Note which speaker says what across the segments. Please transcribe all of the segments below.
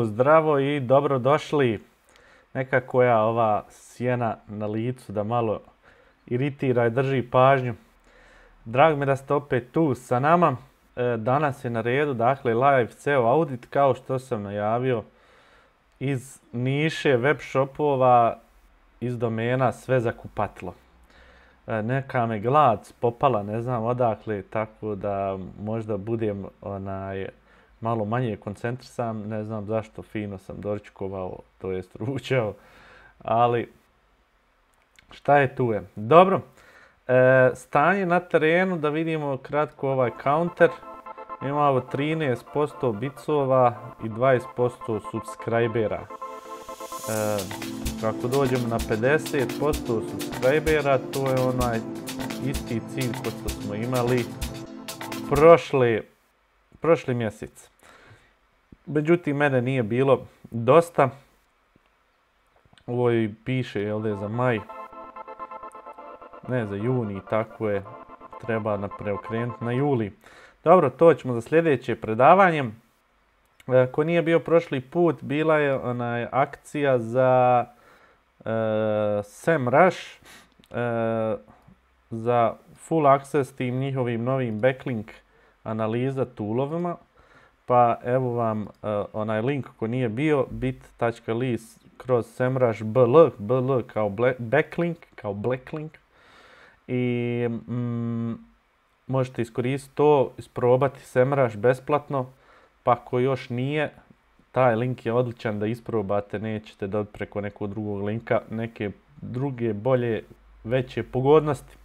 Speaker 1: zdravo i dobrodošli. Nekako ja ova sjena na licu da malo iritira i drži pažnju. Drago mi da ste opet tu sa nama. Danas je na redu, dakle, live SEO audit, kao što sam najavio, iz niše web shopova, iz domena sve za kupatilo. Neka me glad popala, ne znam odakle, tako da možda budem malo manje koncentrisan, ne znam zašto, fino sam doručkovao, to jest ručao, ali šta je tu je. Dobro, stanje na terenu, da vidimo kratko ovaj counter. Imamo 13% bicova i 20% subscribera. Kako dođemo na 50% subscribera, to je onaj isti cilj koji smo imali prošli mjesec. Međutim, mene nije bilo dosta. Ovo i piše, jel da, za maj, ne za juni, tako je, treba preokrenuti na juli. Dobro, to ćemo za sljedeće predavanje. Ko nije bio prošli put, bila je akcija za SEMrush, za full access tim njihovim novim backlink analiza toolovima. Pa evo vam onaj link ko nije bio, bit.ly kroz SEMrush bl kao backlink, kao blacklink. I možete iskoristiti to, isprobati SEMrush besplatno. Pa ako još nije, taj link je odličan da isprobate, nećete dobiti preko nekog drugog linka neke druge, bolje, veće pogodnosti.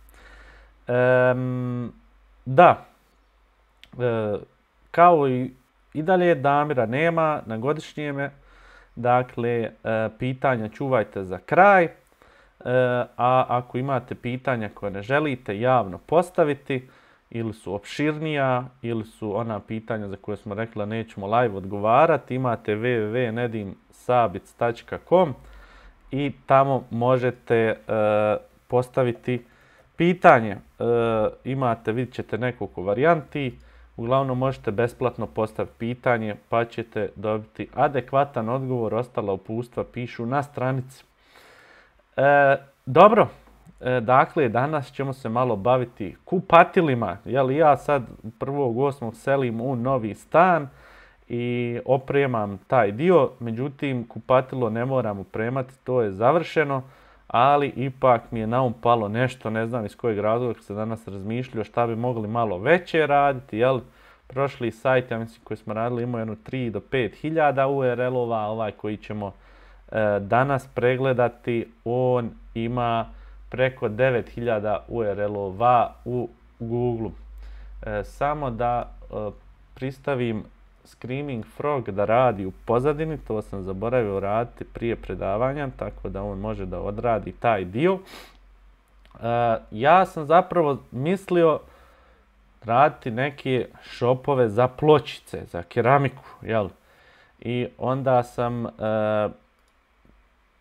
Speaker 1: Kao i dalje Damira nema na godišnjeme, dakle pitanja čuvajte za kraj, a ako imate pitanja koje ne želite javno postaviti, ili su opširnija, ili su ona pitanja za koje smo rekli da nećemo live odgovarati, imate www.nedimsabic.com i tamo možete postaviti pitanje. Vidjet ćete nekoliko varijanti, uglavnom možete besplatno postaviti pitanje pa ćete dobiti adekvatan odgovor, ostala uputstva pišu na stranici. Dobro. Dakle, danas ćemo se malo baviti kupatilima. Ja sad 1.8. selim u novi stan i opremam taj dio, međutim kupatilo ne moram opremati, to je završeno, ali ipak mi je na um palo nešto, ne znam iz kojeg razloga se danas razmišljao šta bi mogli malo veće raditi, prošli sajt, ja mislim koji smo radili, imao jedno 3 do 5 hiljada URL-ova, ovaj koji ćemo danas pregledati, on ima preko 9000 URL-ova u Google. Samo da pristavim Screaming Frog da radi u pozadini, to sam zaboravio raditi prije predavanja, tako da on može da odradi taj dio. Ja sam zapravo mislio raditi neke shopove za pločice, za keramiku, jel? I onda sam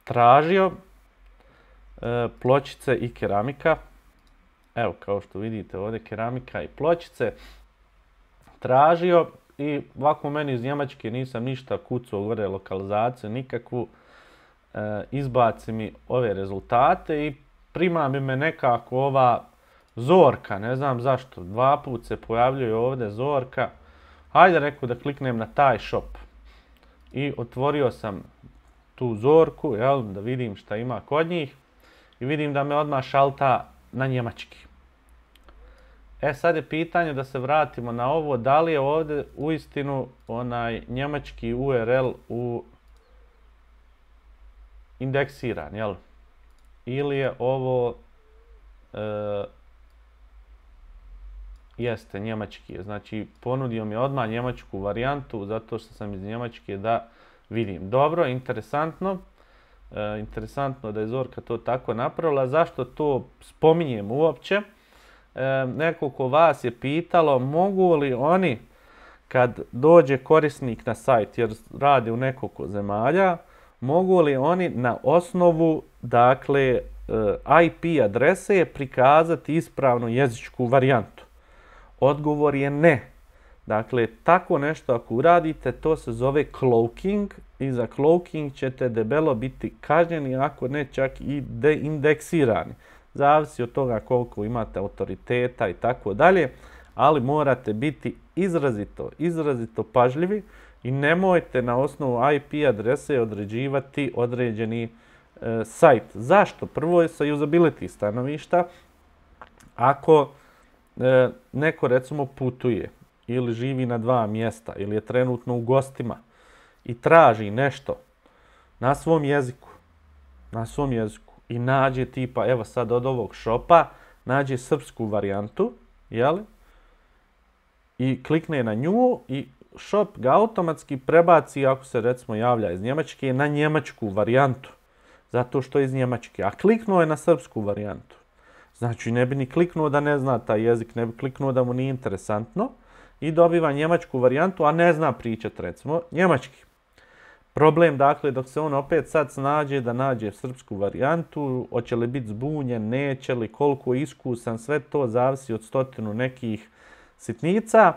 Speaker 1: tražio pločice i keramika. Evo, kao što vidite ovdje keramika i pločice. Tražio i ovako meni iz Njemačke nisam ništa kucao gore lokalizaciju nikakvu. Izbaci mi ove rezultate i prima mi me nekako ova Zorka, ne znam zašto. 2 put se pojavljuje ovdje Zorka. Hajde, rekao da kliknem na taj shop. I otvorio sam tu Zorku, da vidim šta ima kod njih. I vidim da me odmah šalta na njemački. Sad je pitanje da se vratimo na ovo, da li je ovdje uistinu onaj njemački URL indeksiran, jel? Ili je ovo jeste njemački, znači ponudio mi odmah njemačku varijantu zato što sam iz Njemačke da vidim. Dobro, interesantno. Interesantno da je Zorka to tako napravila. Zašto to spominjem uopće? Nekoliko vas je pitalo mogu li oni kad dođe korisnik na sajt, jer radi u nekoliko zemalja, mogu li oni na osnovu dakle IP adrese prikazati ispravnu jezičku varijantu? Odgovor je ne. Dakle, tako nešto ako uradite, to se zove cloaking i za cloaking ćete debelo biti kažnjeni, ako ne čak i deindeksirani. Zavisi od toga koliko imate autoriteta i tako dalje, ali morate biti izrazito pažljivi i nemojte na osnovu IP adrese određivati određeni sajt. Zašto? Prvo je sa usability stanovišta. Ako neko recimo putuje ili živi na 2 mjesta ili je trenutno u gostima i traži nešto na svom jeziku i nađe tipa, evo sad od ovog shopa, nađe srpsku varijantu, jel? I klikne na nju i shop ga automatski prebaci, ako se recimo javlja iz Njemačke, na njemačku varijantu, zato što je iz Njemačke, a kliknuo je na srpsku varijantu. Znači ne bi ni kliknuo da ne zna taj jezik, ne bi kliknuo da mu nije interesantno i dobiva njemačku varijantu, a ne zna pričati recimo njemački. Problem, dakle, dok se on opet sad snađe da nađe srpsku varijantu, hoće li biti zbunjen, neće li, koliko je iskusan, sve to zavisi od 100 nekih sitnica.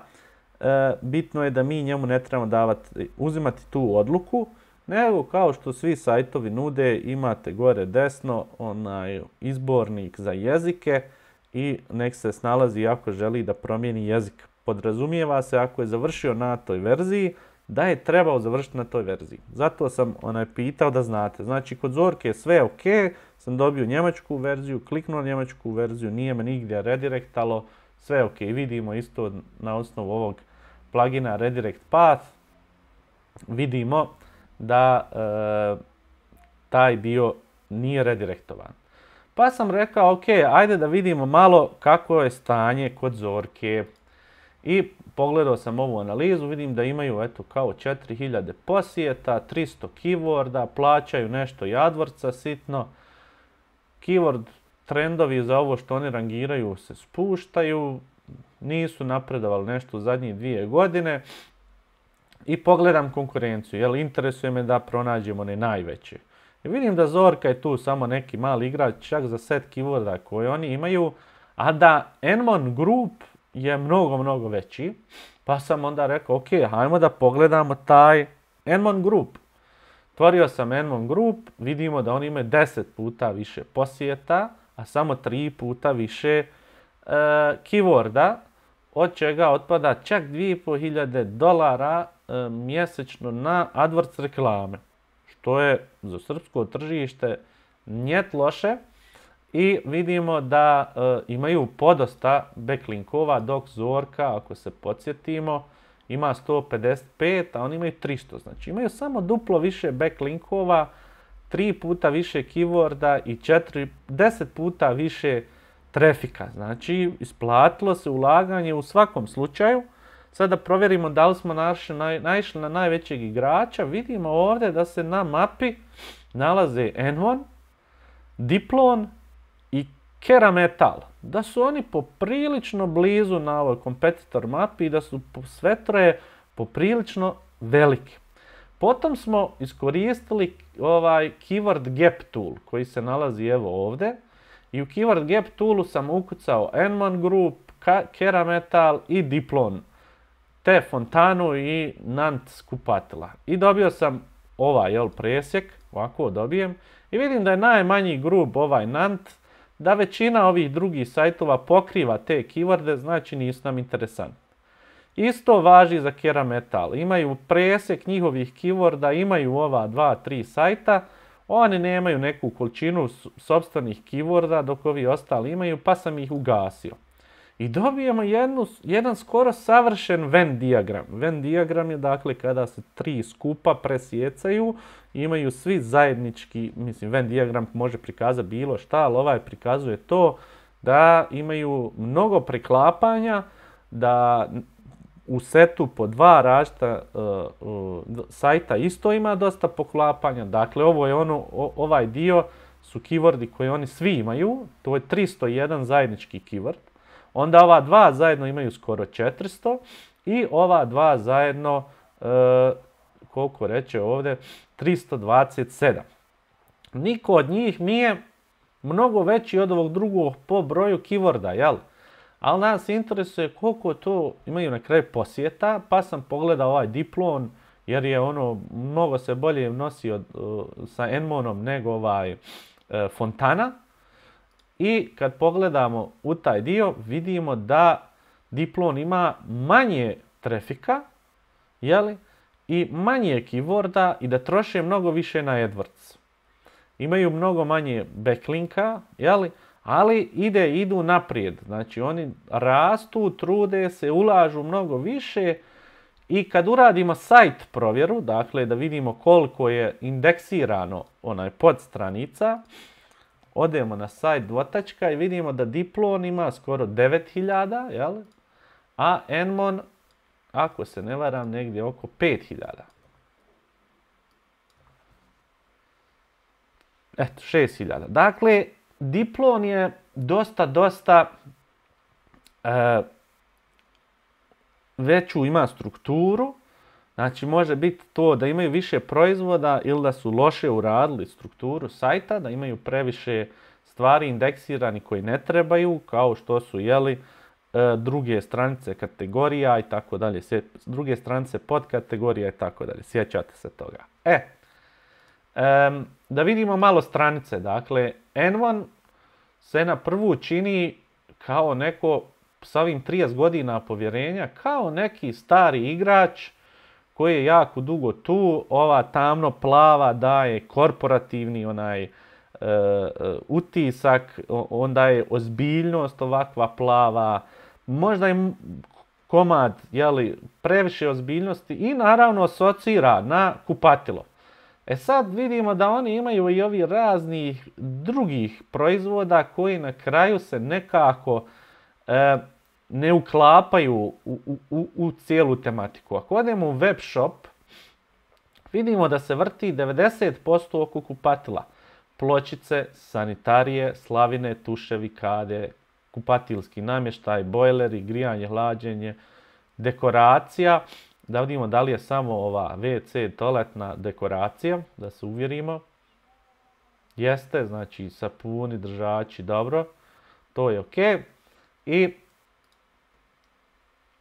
Speaker 1: Bitno je da mi njemu ne trebamo uzimati tu odluku, nego kao što svi sajtovi nude, imate gore desno onaj izbornik za jezike i nek se snalazi ako želi da promijeni jezik. Podrazumijeva se ako je završio na toj verziji, da je trebao završiti na toj verziji. Zato sam pitao da znate. Znači, kod Zorke je sve ok, sam dobio njemačku verziju, kliknuo njemačku verziju, nije me nigdje redirektalo, sve ok. Vidimo isto na osnovu ovog plugina Redirect Path, vidimo da taj dio nije redirektovan. Pa sam rekao, ok, ajde da vidimo malo kako je stanje kod Zorke. I pogledao sam ovu analizu, vidim da imaju eto kao 4000 posjeta, 300 keyworda, plaćaju nešto i AdWordsa sitno. Keyword trendovi za ovo što oni rangiraju se spuštaju, nisu napredovali nešto u zadnjih 2 godine. I pogledam konkurenciju, jer interesuje me da pronađemo one najveće. I vidim da Zorka je tu samo neki mali igrač, čak za set keyworda koje oni imaju, a da Enmon Group je mnogo veći. Pa sam onda rekao, ok, hajmo da pogledamo taj Enmon Group. Otvorio sam Enmon Group, vidimo da oni imaju 10 puta više posjeta, a samo 3 puta više keyworda, od čega otpada čak $2500 mjesečno na AdWords reklame, što je za srpsko tržište njet loše. I vidimo da imaju podosta backlinkova, dok Zorka, ako se podsjetimo, ima 155, a oni imaju 300. Znači imaju samo duplo više backlinkova, 3 puta više keyworda i 10 puta više trafika. Znači isplatilo se ulaganje u svakom slučaju. Sada provjerimo da li smo naišli na najvećeg igrača. Vidimo ovdje da se na mapi nalaze Enmon, Diplon i Kerametal. Da su oni poprilično blizu na ovoj kompetitor mapi i da su sve troje poprilično velike. Potom smo iskoristili ovaj Keyword Gap Tool koji se nalazi evo ovdje. I u Keyword Gap Toolu sam ukucao Enmon Group, Kerametal i Diplon, te Fontanu i Nant skupatila. I dobio sam ovaj presjek, ovako dobijem. I vidim da je najmanji grup ovaj Nant, da većina ovih drugih sajtova pokriva te keyworde, znači nisu nam interesantni. Isto važi za Kerametal. Imaju presjek njihovih keyworda, imaju ova 2-3 sajta. Oni nemaju neku količinu sopstvenih keyworda, dok ovi ostali imaju, pa sam ih ugasio. I dobijemo jedan skoro savršen Venn diagram. Venn diagram je dakle kada se 3 skupa presjecaju, imaju svi zajednički, mislim Venn diagram može prikazati bilo šta, ali ovaj prikazuje to da imaju mnogo preklapanja, da u setu po 2 različita sajta isto ima dosta poklapanja. Dakle, ovo je ovaj dio su keywordi koji oni svi imaju, to je 301 zajednički keyword. Onda ova 2 zajedno imaju skoro 400 i ova 2 zajedno, koliko reče ovdje, 327. Niko od njih nije mnogo veći od ovog drugog po broju keyworda, jel? Ali nas interesuje koliko to imaju na kraju posjeta, pa sam pogledao ovaj Diplon, jer je ono mnogo se bolje nosio sa Enmonom nego Fontana. I kad pogledamo u taj dio, vidimo da Diplon ima manje trafika, jeli, i manje keyworda i da troše mnogo više na AdWords. Imaju mnogo manje backlinka, jeli, ali idu naprijed. Znači oni rastu, trude se, ulažu mnogo više i kad uradimo sajt provjeru, dakle da vidimo koliko je indeksirano podstranica, odemo na sajt dvotačka i vidimo da Diplon ima skoro 9000, jel? A Enmon, ako se ne varam, negdje oko 5000. Eto, 6000. Dakle, Diplon je dosta veću ima strukturu. Znači, može biti to da imaju više proizvoda ili da su loše uradili strukturu sajta, da imaju previše stvari indeksirani koji ne trebaju, kao što su, jeli, druge stranice kategorija i tako dalje, druge stranice podkategorija i tako dalje. Sjećate se toga. Da vidimo malo stranice. Dakle, N1 se na prvu čini kao neko s ovim 30 godina povjerenja, kao neki stari igrač koji je jako dugo tu. Ova tamno plava daje korporativni utisak, onda je ozbiljnost ovakva plava, možda je komad, jeli, previše ozbiljnosti i naravno asocira na kupatilo. Sad vidimo da oni imaju i ovi raznih drugih proizvoda koji na kraju se nekako ne uklapaju u cijelu tematiku. Ako odemo u web shop, vidimo da se vrti 90% oko kupatila. Pločice, sanitarije, slavine, tuševi, kade, kupatilski namještaj, bojleri, grijanje, hlađenje, dekoracija. Da vidimo da li je samo ova WC toaletna dekoracija, da se uvjerimo. Jeste, znači sapuni, držači, dobro. To je ok. I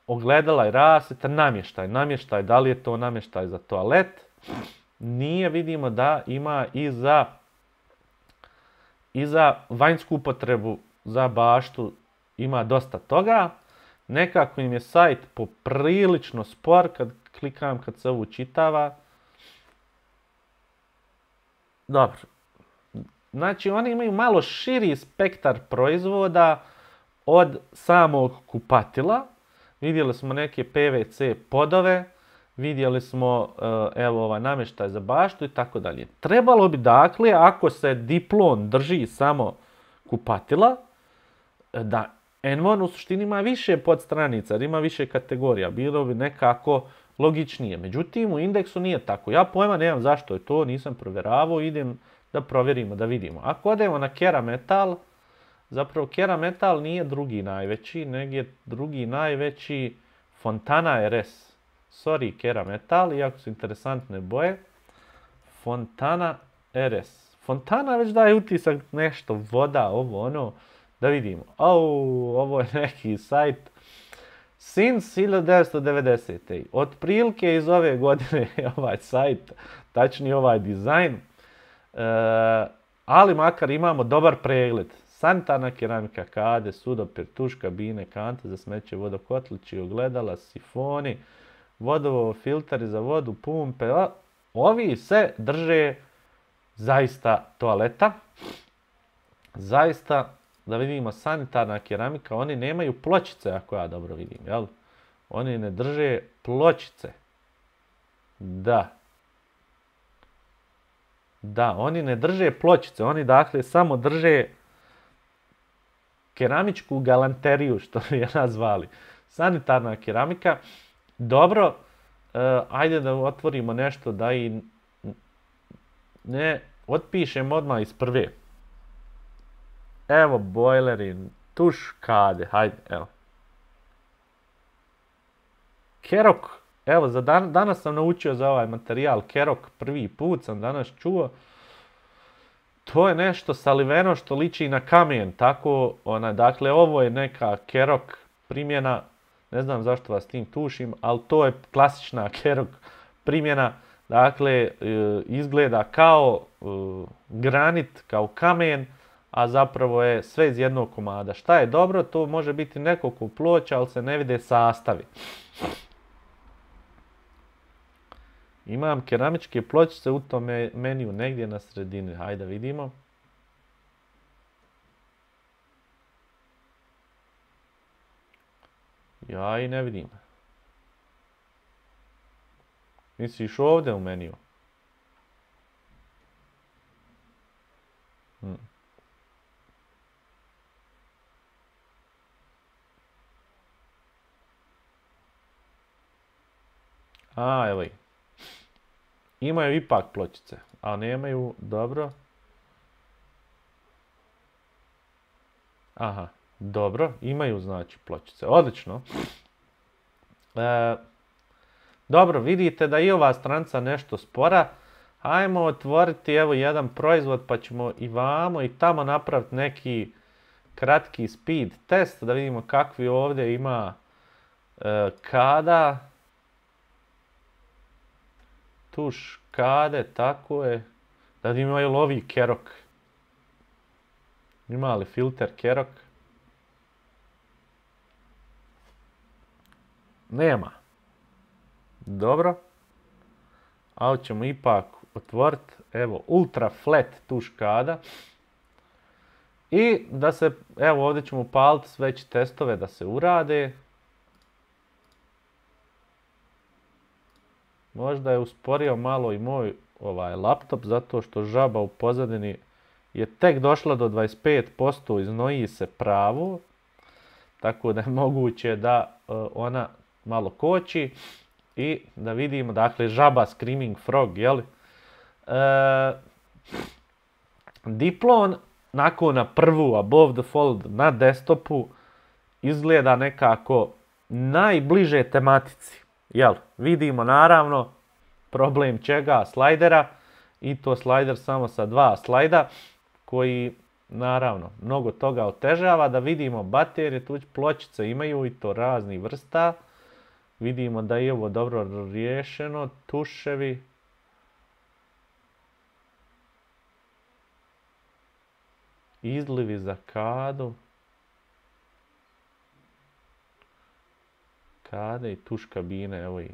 Speaker 1: ogledala i rasvjeta, namještaj. Namještaj, da li je to namještaj za toalet? Nije, vidimo da ima i za vanjsku upotrebu, za baštu, ima dosta toga. Nekako im je sajt poprilično spor kad klikam, kad se ovo učitava. Dobro. Znači oni imaju malo širi spektar proizvoda od samog kupatila. Vidjeli smo neke PVC podove, vidjeli smo evo namještaj za baštu i tako dalje. Trebalo bi dakle, ako se Diplon drži samo kupatila, da Enmon u suštini ima više podstranica, ima više kategorija, bilo bi nekako logičnije. Međutim, u indeksu nije tako. Ja pojma nemam zašto je to, nisam provjeravao, idem da provjerimo, da vidimo. Ako odemo na Kerametal, zapravo Kerametal nije drugi najveći, nego je drugi najveći Fontana RS. Sorry, Kerametal, iako su interesantne boje. Fontana RS. Fontana već daje utisak nešto, voda, ovo, ono. Da vidimo. Ovo je neki sajt. Since 1990. Otprilike iz ove godine je ovaj sajt, tačnije ovaj dizajn. Ali makar imamo dobar pregled. Sanitarna keramika, kade, sudopir, tuš, kabine, kante za smeće, vodokotlići, ogledala, sifoni, vodovo, filteri za vodu, pumpe. Ovi se drže zaista toaleta. Zaista, da vidimo, sanitarna keramika, oni nemaju pločice, ako ja dobro vidim, jel? Oni ne drže pločice. Da, oni ne drže pločice, oni dakle samo drže keramičku galanteriju, što je nazvali. Sanitarna keramika. Dobro, ajde da otvorimo nešto da i ne otpišem odmah iz prve. Evo bojleri, tuš, kade, hajde, evo. Kerok, evo, danas sam naučio za ovaj materijal Kerok, prvi put sam danas čuo. To je nešto saliveno što liči na kamen, tako, dakle, ovo je neka Kerok primjena, ne znam zašto vas tim tušim, ali to je klasična Kerok primjena. Dakle, izgleda kao granit, kao kamen, a zapravo je sve iz jednog komada. Šta je dobro? To može biti nekoliko ploča, ali se ne vide sastavi. Imam keramičke pločice u tom meniju negdje na sredini. Hajde vidimo. Ja i ne vidim. Misliš ovdje u meniju? A, evo ih. Imaju ipak pločice, a nemaju, dobro. Aha, dobro, imaju znači pločice, odlično. Dobro, vidite da i ova stranica nešto spora. Hajmo otvoriti evo jedan proizvod pa ćemo i vamo i tamo napraviti neki kratki speed test da vidimo kakvi ovdje ima kada. Tuš kade, tako je. Da imaju li ovi kerok? Ima li filter kerok? Nema. Dobro. Ali ćemo ipak otvoriti. Evo, ultra flat tuš kada. I da se, evo ovdje ćemo upaliti sve testove da se urade. Možda je usporio malo i moj laptop, zato što žaba u pozadini je tek došla do 25%, iznoji se pravo. Tako da je moguće da ona malo koči. I da vidimo, dakle, žaba Screaming Frog, jeli? Diplon, nakon na prvu Above the Fold na desktopu, izgleda nekako najbliže tematici. Jel, vidimo naravno problem čega? Slajdera. I to slajder samo sa 2 slajda koji naravno mnogo toga otežava. Da vidimo baterije, tu pločice imaju i to raznih vrsta. Vidimo da je ovo dobro riješeno, tuševi. Izlivi za kadu. Kade i tuš kabine, evo i.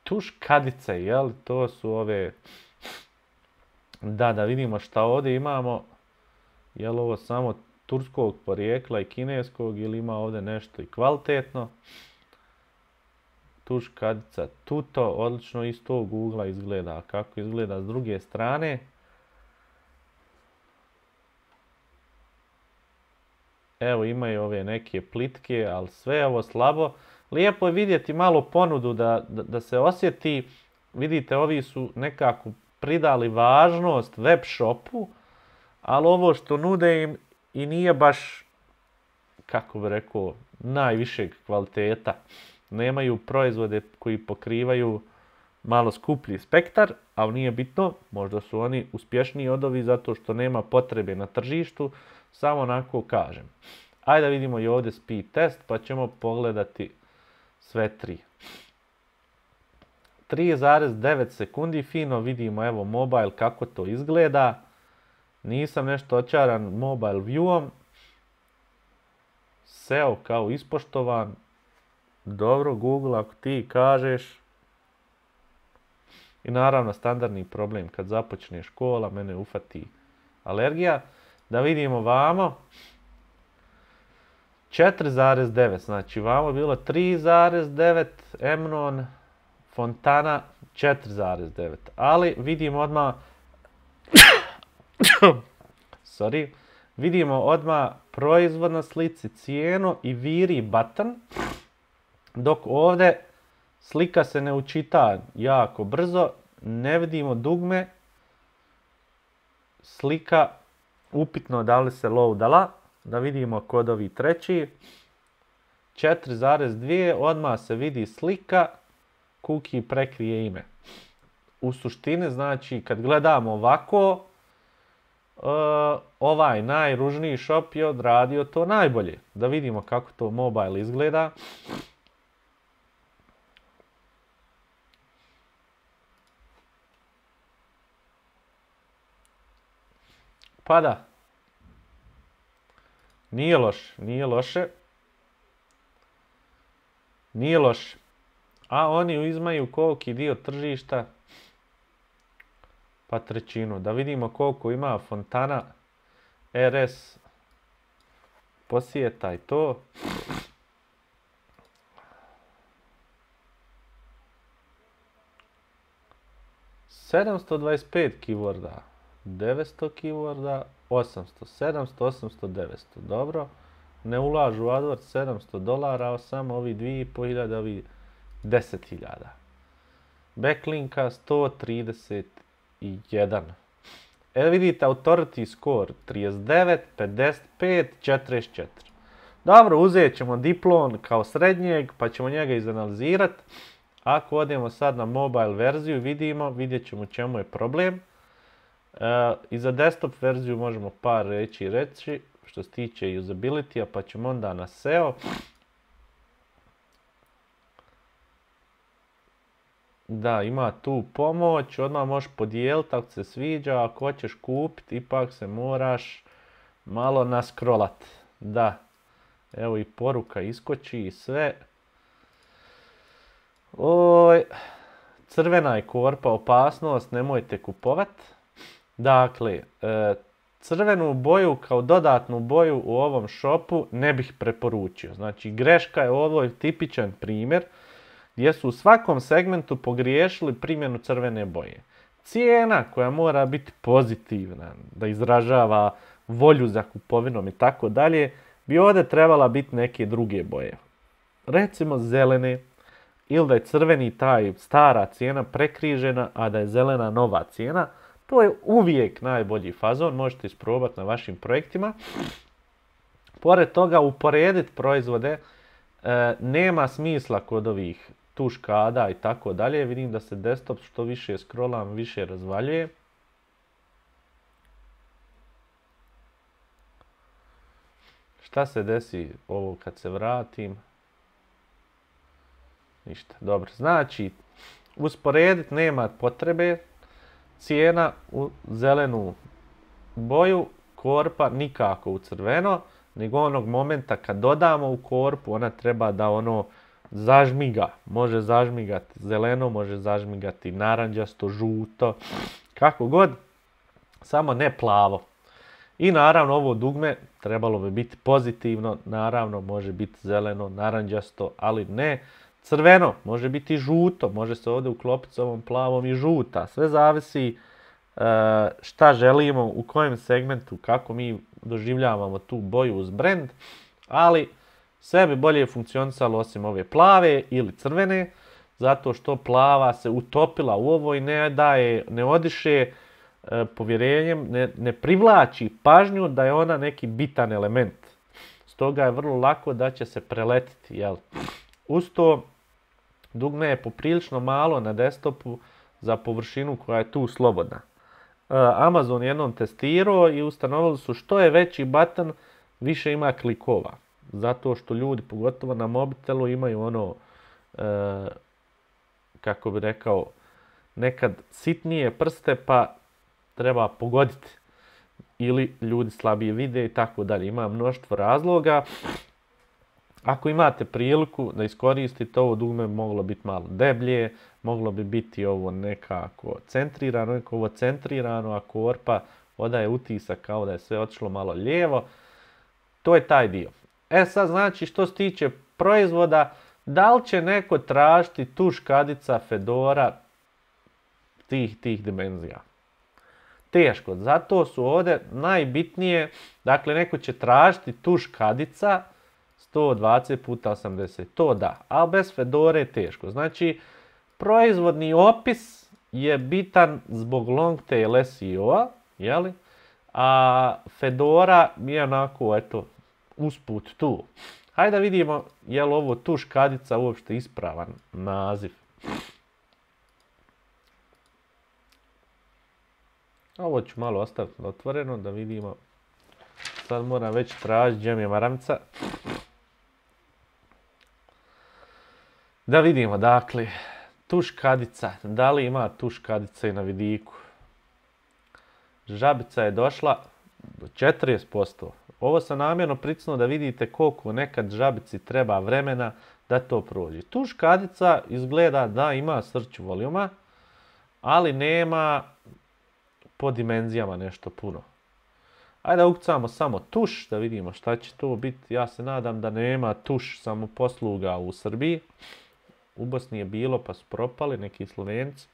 Speaker 1: Tuš kadice, jel? To su ove... Da vidimo šta ovdje imamo. Je li ovo samo turskog porijekla i kineskog ili ima ovdje nešto i kvalitetno. Tuš kadica Tuto, odlično iz tog ugla izgleda. Kako izgleda s druge strane. Evo imaju ove neke plitke, ali sve je ovo slabo. Lijepo je vidjeti malo ponudu da se osjeti. Vidite, ovi su nekako pridali važnost web shopu, ali ovo što nude im i nije baš, kako bi rekao, najvišeg kvaliteta. Nemaju proizvode koji pokrivaju malo skuplji spektar, ali nije bitno, možda su oni uspješniji od ovi zato što nema potrebe na tržištu, samo onako kažem. Ajde da vidimo i ovdje speed test pa ćemo pogledati sve tri. 3,9 sekundi, fino vidimo evo mobile kako to izgleda. Nisam nešto očaran mobile viewom. SEO kao ispoštovan. Dobro Google ako ti kažeš. I naravno standardni problem kad započne škola, mene ufati alergija. Da vidimo vamo. 4,9, znači vamo je bilo 3,9, Emnon, Fontana 4,9, ali vidimo odmah vidimo odmah proizvod na slici, cijenu i viri button, dok ovdje slika se ne učita jako brzo, ne vidimo dugme, slika upitno da li se loadala, da vidimo kod ovi treći, 4,2, odmah se vidi slika, cookie prekrije ime. U suštini, znači, kad gledamo ovako, ovaj najružniji shop je odradio to najbolje. Da vidimo kako to mobile izgleda. Pa da. Nije loše, nije loše. Nije loše. A oni uzimaju koliki dio tržišta? Pa trećinu. Da vidimo koliko ima Fontana RS posjeta i to. Sedamsto 25 keyworda, 900 keyworda, 800, 700, 800, 900. Dobro. Ne ulažu u AdWords $700, a samo ovi 2500, ovi 10.000. Backlinka 131. Vidite authority score 39, 55, 44. Dobro, uzet ćemo diplom kao srednjeg pa ćemo njega izanalizirati. Ako odemo sad na mobile verziju vidjet ćemo u čemu je problem. I za desktop verziju možemo par reći što se tiče usability-a, pa ćemo onda na SEO. Da, ima tu pomoć, odmah možeš podijeliti ako se sviđa, ako hoćeš kupiti, ipak se moraš malo naskrolat. Da, evo i poruka iskoči i sve. Crvena je korpa, opasnost, nemojte kupovat. Dakle, crvenu boju kao dodatnu boju u ovom shopu ne bih preporučio. Znači, greška je ovo tipičan primjer gdje su u svakom segmentu pogriješili primjenu crvene boje. Cijena koja mora biti pozitivna, da izražava volju za kupovinom i tako dalje, bi ovdje trebala biti neke druge boje. Recimo zelene, ili da je crveni taj stara cijena prekrižena, a da je zelena nova cijena. To je uvijek najbolji fazon, možete isprobati na vašim projektima. Pored toga, uporediti proizvode nema smisla kod ovih tuškada i tako dalje. Vidim da se desktop što više scrollam, više razvaljuje. Šta se desi ovo kad se vratim? Ništa, dobro. Znači, usporediti nema potrebe. Cijena u zelenu boju, korpa nikako u crveno, nego onog momenta kad dodamo u korpu, ona treba da ono zažmiga. Može zažmigati zeleno, može zažmigati naranđasto, žuto, kako god, samo ne plavo. I naravno ovo dugme trebalo bi biti pozitivno, naravno može biti zeleno, naranđasto, ali ne crveno, može biti žuto, može se ovdje uklopiti s ovom plavom i žuta. Sve zavisi šta želimo, u kojem segmentu, kako mi doživljavamo tu boju uz brand, ali sve bi bolje funkcionisalo osim ove plave ili crvene, zato što plava se utopila u ovo i ne odiše povjerenjem, ne privlači pažnju da je ona neki bitan element. Stoga je vrlo lako da će se preletiti, jel? Uz to, dugme je poprilično malo na desktopu za površinu koja je tu slobodna. Amazon jednom testirao i ustanovili su što je veći button, više ima klikova. Zato što ljudi, pogotovo na mobitelu, imaju ono, kako bi rekao, nekad sitnije prste pa treba pogoditi. Ili ljudi slabije vide i tako dalje. Ima mnoštvo razloga. Ako imate priliku da iskoristite ovo dugme, moglo biti malo deblje, moglo bi biti ovo nekako centrirano, ovo centrirano, a korpa odaje utisak kao da je sve otišlo malo lijevo. To je taj dio. Sad znači što se tiče proizvoda, da li će neko tražiti tuškadica Fedora tih dimenzija? Teško, zato su ovdje najbitnije, dakle neko će tražiti tuškadica 120x80, to da, ali bez Fedore je teško. Znači, proizvodni opis je bitan zbog long tail SEO-a, jeli? A Fedora je onako, eto, usput tu. Hajde da vidimo je li ovo tuškadica uopšte ispravan naziv. Ovo ću malo ostaviti otvoreno da vidimo. Sad moram već tražiti gdje mi je maramica. Da vidimo, dakle, tuš kadica. Da li ima tuš kadica i na vidiku? Žabica je došla do 40%. Ovo sam namjerno pricnuo da vidite koliko nekad žabici treba vremena da to prođe. Tuš kadica izgleda da ima search volume, ali nema po dimenzijama nešto puno. Ajde da ukucamo samo tuš da vidimo šta će to biti. Ja se nadam da nema tuš samoposluga u Srbiji. U Bosni je bilo pa su propali neki Slovenci.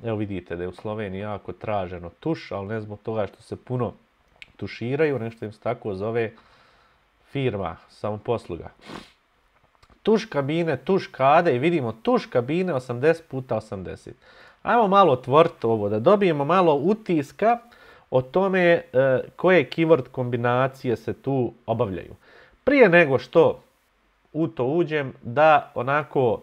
Speaker 1: Evo vidite da je u Sloveniji jako traženo tuš, ali ne zbog toga što se puno tuširaju, nešto im se tako zove firma samoposluga. Tuš kabine, tuš kade i vidimo tuš kabine 80x80. Ajmo malo otvoriti ovo da dobijemo malo utiska o tome koje keyword kombinacije se tu obavljaju. Prije nego što u to uđem, da onako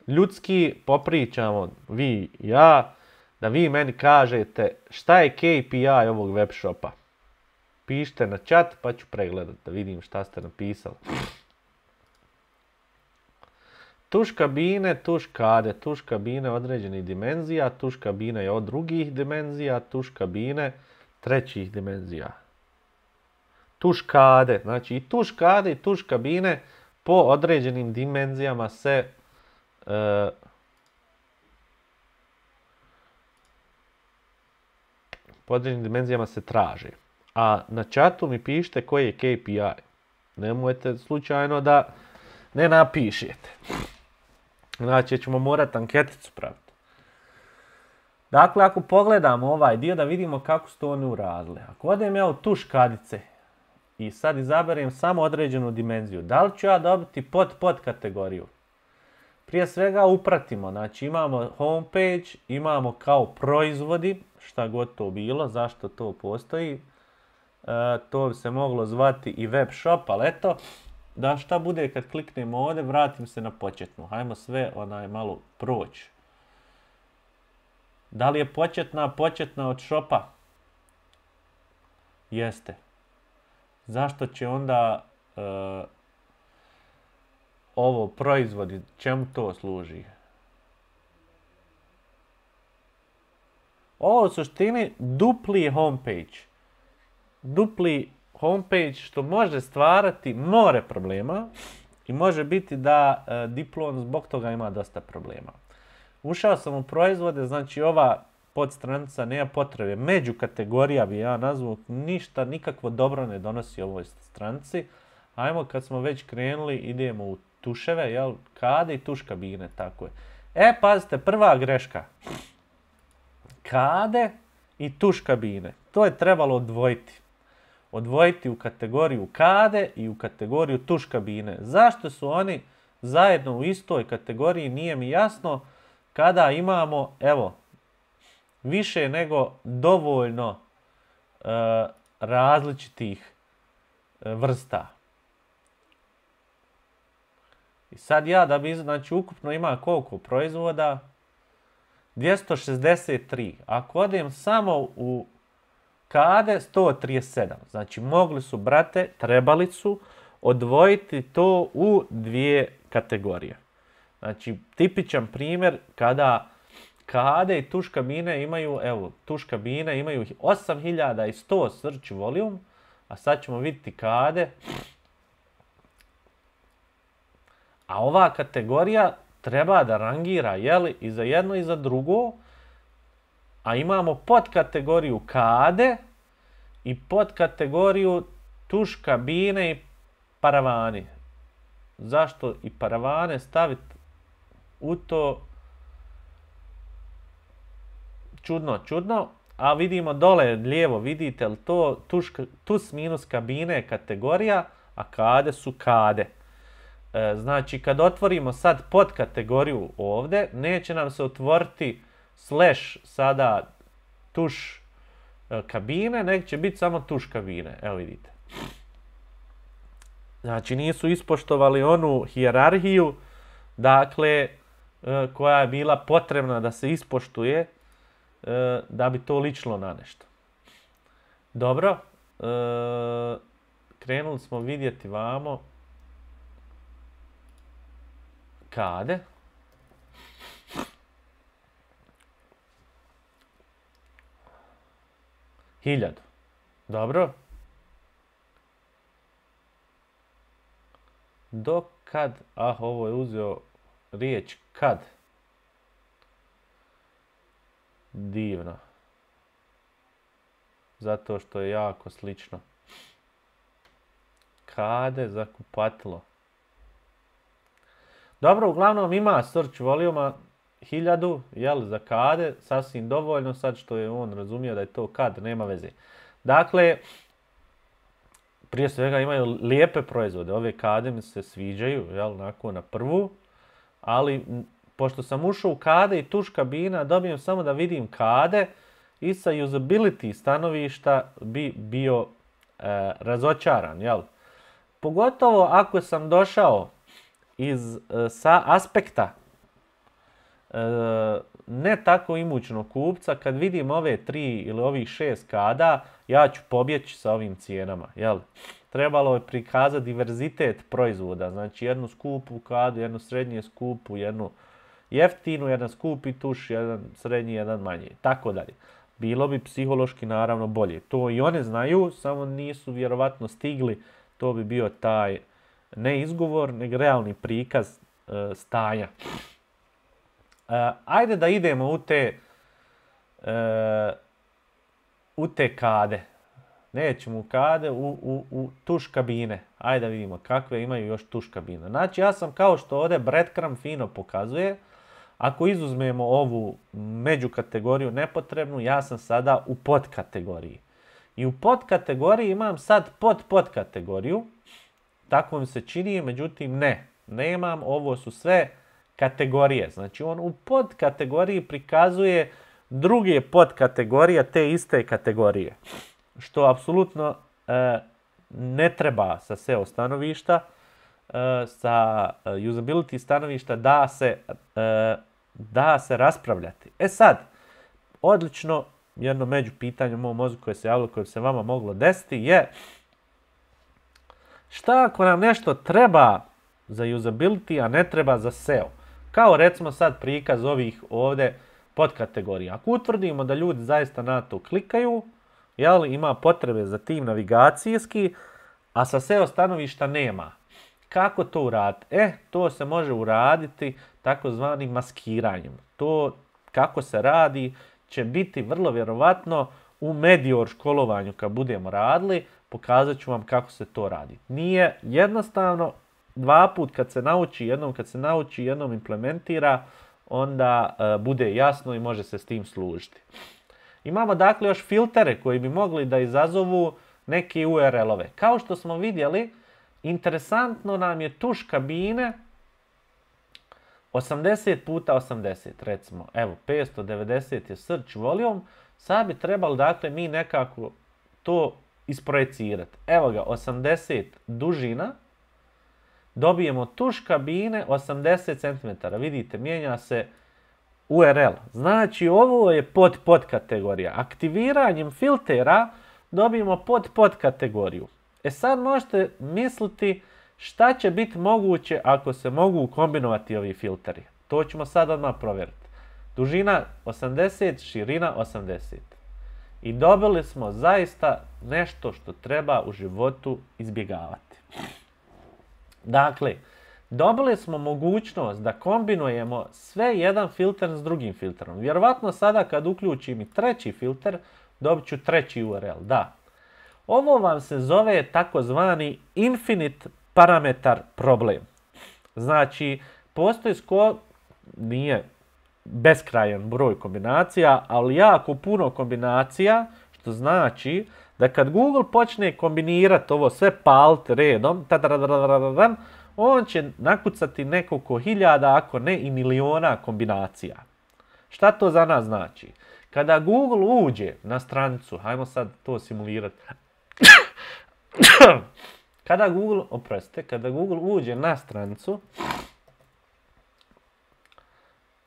Speaker 1: ljudski popričamo vi i ja, da vi meni kažete šta je KPI ovog web shopa. Pišite na chat pa ću pregledati da vidim šta ste napisali. Tuš kabine, tuš kade, tuš kabine određenih dimenzija, tuš kabine je od drugih dimenzija, tuš kabine trećih dimenzija. Tuš kade, znači i tuš kade i tuš kabine po određenim dimenzijama se traži. A na chatu mi pišite koji je KPI. Nemojte slučajno da ne napišete. Znači ćemo morati anketicu praviti. Dakle, ako pogledamo ovaj dio da vidimo kako su to oni uradili. Ako odem ja u tuš kadice i sad izaberem samo određenu dimenziju, da li ću ja dobiti pod kategoriju? Prije svega upratimo, znači imamo homepage, imamo kao proizvodi, šta god to bilo, zašto to postoji. To bi se moglo zvati i web shop, ali eto, da šta bude kad kliknemo ovdje, vratim se na početnu. Hajmo sve malo proći. Da li je početna od shopa? Jeste. Zašto će onda ovo proizvodi, čemu to služi? Ovo u suštini dupli homepage. Dupli homepage što može stvarati more problema i može biti da Diplon zbog toga ima dosta problema. Ušao sam u proizvode, znači ova podstranica nema potrebe. Među kategorija bi ja nazvao, ništa, nikakvo dobro ne donosi ovoj stranici. Ajmo kad smo već krenuli, idemo u tuševe, jel? Kade i tuš kabine, tako je. Pazite, prva greška. Kade i tuš kabine. To je trebalo odvojiti. Odvojiti u kategoriju kade i u kategoriju tuš kabine. Zašto su oni zajedno u istoj kategoriji, nije mi jasno, kada imamo, evo, više nego dovoljno različitih vrsta. I sad ja da bi, znači ukupno ima koliko proizvoda? 263. Ako odem samo u kade, 137. Znači mogli su, brate, trebali su odvojiti to u dvije kategorije. Znači tipičan primjer kada kade i tuš kabine imaju, evo, tuš kabine imaju 8100 search volume, a sad ćemo vidjeti kade. A ova kategorija treba da rangira, jeli, i za jedno i za drugo, a imamo podkategoriju kade i podkategoriju tuš kabine i paravani. Zašto i paravane staviti u to? Čudno. A vidimo dole lijevo, vidite li to, tus minus kabine je kategorija, a kade su kade. Znači kad otvorimo sad podkategoriju ovdje, neće nam se otvoriti slash sada tuš kabine, nego će biti samo tuš kabine. Evo vidite. Znači nisu ispoštovali onu hijerarhiju, dakle, koja je bila potrebna da se ispoštuje da bi to ličilo na nešto. Dobro, krenuli smo vidjeti vamo kade. Hiljadu. Dobro. Do kad, ovo je uzeo riječ kad. Divno. Zato što je jako slično. Kade za kupatilo. Dobro, uglavnom ima search volume 1000, jel, za kade, sasvim dovoljno, sad što je on razumio da je to kad, nema veze. Dakle, prije svega imaju lijepe proizvode, ove kade mi se sviđaju, jel, onako na prvu, ali pošto sam ušao u kade i tuš kabina, dobijem samo da vidim kade i sa usability stanovišta bi bio razočaran, jel. Pogotovo ako sam došao sa aspekta ne tako imućnog kupca, kad vidim ove 3 ili ovih 6 kada, ja ću pobjeći sa ovim cijenama, jel? Trebalo je prikazati diverzitet proizvoda, znači jednu skupu kadu, jednu srednje skupu, jednu jeftinu, jedan skupi tuš, jedan srednji, jedan manji, tako dalje. Bilo bi psihološki naravno bolje. To i one znaju, samo nisu vjerovatno stigli, to bi bio taj ne izgovor, nego realni prikaz stanja. Ajde da idemo u te kade. Nećemo u kade, u tuš kabine. Ajde da vidimo kakve imaju još tuš kabine. Znači ja sam kao što ovdje breadcrumb fino pokazuje, ako izuzmemo ovu međukategoriju nepotrebnu, ja sam sada u podkategoriji. I u podkategoriji imam sad podkategoriju. Tako mi se čini, međutim ne. Nemam, ovo su sve kategorije. Znači on u podkategoriji prikazuje druge podkategorije te iste kategorije. Što apsolutno ne treba sa SEO stanovišta, sa usability stanovišta da se raspravljati. Sad, odlično, jedno među pitanje u mom mozgu koje se javilo, koje se vama moglo desiti je šta ako nam nešto treba za usability, a ne treba za SEO? Kao recimo sad prikaz ovih ovdje podkategorija. Ako utvrdimo da ljudi zaista na to klikaju, jel, ima potrebe za tim navigacijski, a sa SEO stanovišta nema. Kako to uraditi? To se može uraditi takozvanim maskiranjem. To kako se radi će biti vrlo vjerovatno u Meteor školovanju kad budemo radili, pokazat ću vam kako se to radi. Nije jednostavno, dva put kad se nauči, jednom implementira, onda bude jasno i može se s tim služiti. Imamo dakle još filtere koji bi mogli da izazovu neke URL-ove. Kao što smo vidjeli, interesantno nam je tuš kabine 80x80, recimo. Evo, 590 je search volume. Sad bi trebalo, dakle, mi nekako to isprojecirati. Evo ga, 80 dužina. Dobijemo tuš kabine 80 cm. Vidite, mijenja se URL. Znači, ovo je podkategorija. Aktiviranjem filtera dobijemo podkategoriju. Sad možete misliti šta će biti moguće ako se mogu kombinovati ovi filteri. To ćemo sad odmah provjeriti. Dužina 80, širina 80. I dobili smo zaista nešto što treba u životu izbjegavati. Dakle, dobili smo mogućnost da kombinujemo sve jedan filter s drugim filterom. Vjerovatno sada kad uključim i treći filter, dobit ću treći URL. Da. Ovo vam se zove takozvani infinite parametar problem. Znači, postoji nije beskrajan broj kombinacija, ali jako puno kombinacija, što znači da kad Google počne kombinirati ovo sve paliti redom, on će nakucati nekoliko hiljada, ako ne i miliona kombinacija. Šta to za nas znači? Kada Google uđe na stranicu, hajmo sad to simulirati. Kada Google uđe na stranicu,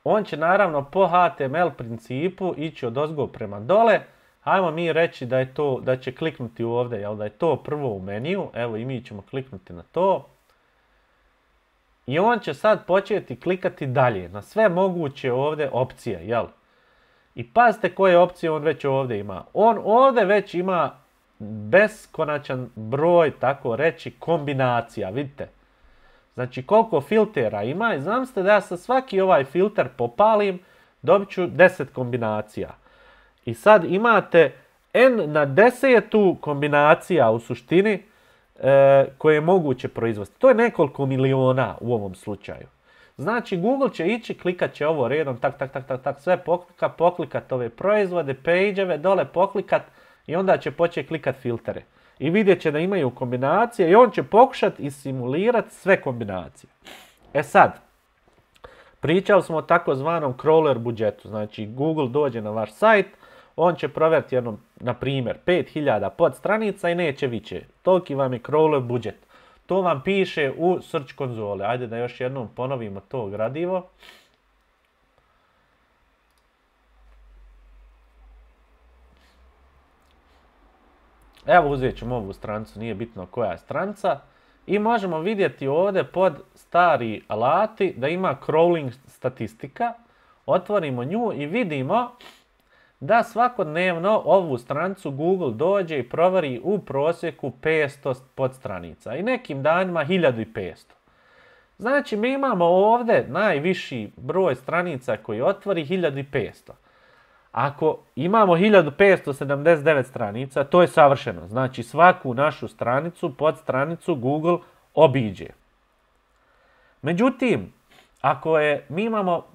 Speaker 1: on će naravno po HTML principu ići odozgo prema dole. Hajmo mi reći da je to, da će kliknuti ovdje, jel, da je to prvo u meniju. Evo i mi ćemo kliknuti na to. I on će sad početi klikati dalje na sve moguće ovdje opcije, jel? I pazite koje opcije on već ovdje ima. On ovdje već ima beskonačan broj, tako reći, kombinacija, vidite. Znači koliko filtera ima i znam ste da ja sa svaki ovaj filter popalim, dobit ću 10 kombinacija. I sad imate n na 10 kombinacija u suštini koje je moguće proizvesti. To je nekoliko miliona u ovom slučaju. Znači Google će ići, klikat će ovo redom, tak, sve poklikat ove proizvode, page-eve, dole poklikat i onda će početi klikat filtere. I vidjet će da imaju kombinacije i on će pokušati isimulirati sve kombinacije. E sad, pričali smo o takozvanom crawler budžetu. Znači Google dođe na vaš sajt, on će provjeriti jedno, na primjer, 5000 podstranica i neće više. Toliki vam je crawler budžet. To vam piše u search konzoli. Ajde da još jednom ponovimo to gradivo. Evo uzet ćemo ovu stranicu, nije bitno koja je stranica. I možemo vidjeti ovdje pod stari alati da ima crawling statistika. Otvorimo nju i vidimo da svakodnevno ovu stranicu Google dođe i proveri u prosjeku 500 podstranica i nekim danima 1500. Znači mi imamo ovdje najviši broj stranica koji otvori 1500. Ako imamo 1579 stranica, to je savršeno. Znači svaku našu stranicu, podstranicu Google obiđe. Međutim, ako mi imamo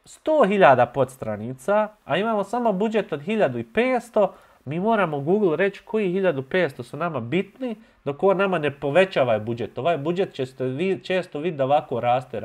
Speaker 1: 100.000 podstranica, a imamo samo budžet od 1500, mi moramo Google reći koji 1500 su nama bitni, dok on nama ne povećava budžet. Ovaj budžet ćete često vidjeti da ovako raste.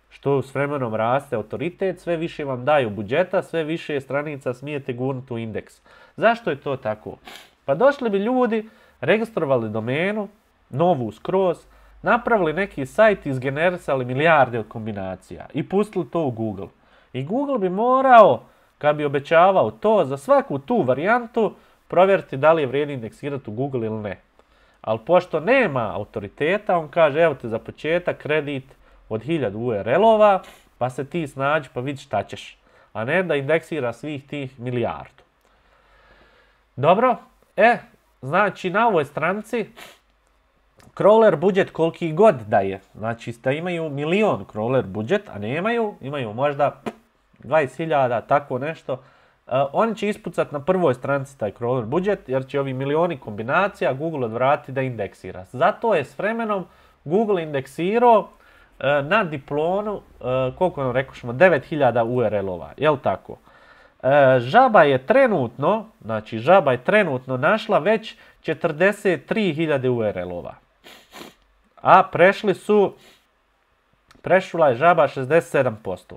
Speaker 1: Što s vremenom raste autoritet, sve više vam daju budžeta, sve više stranica smijete gurnuti u indeks. Zašto je to tako? Pa došli bi ljudi, registrovali domenu, novu skroz, napravili neki sajt, izgenerisali milijarde od kombinacija i pustili to u Google. I Google bi morao, kad bi obećavao to, za svaku tu varijantu provjeriti da li je vrijedi indeksirati u Google ili ne. Ali pošto nema autoriteta, on kaže evo te za početak kredit od 1000 URL-ova, pa se ti snađi pa vidi šta ćeš. A ne da indeksira svih tih milijardu. Dobro, znači na ovoj stranici crawler budžet koliki god da je. Znači da imaju milion crawler budžet, a imaju možda 20.000, tako nešto. Oni će ispucati na prvoj stranici taj crawler budžet, jer će ovi milioni kombinacija Google odvratiti da indeksira. Zato je s vremenom Google indeksirao na diplonu, koliko nam rekošmo, 9000 URL-ova, jel tako? Žaba je trenutno našla već 43.000 URL-ova. A prešla je žaba 67%.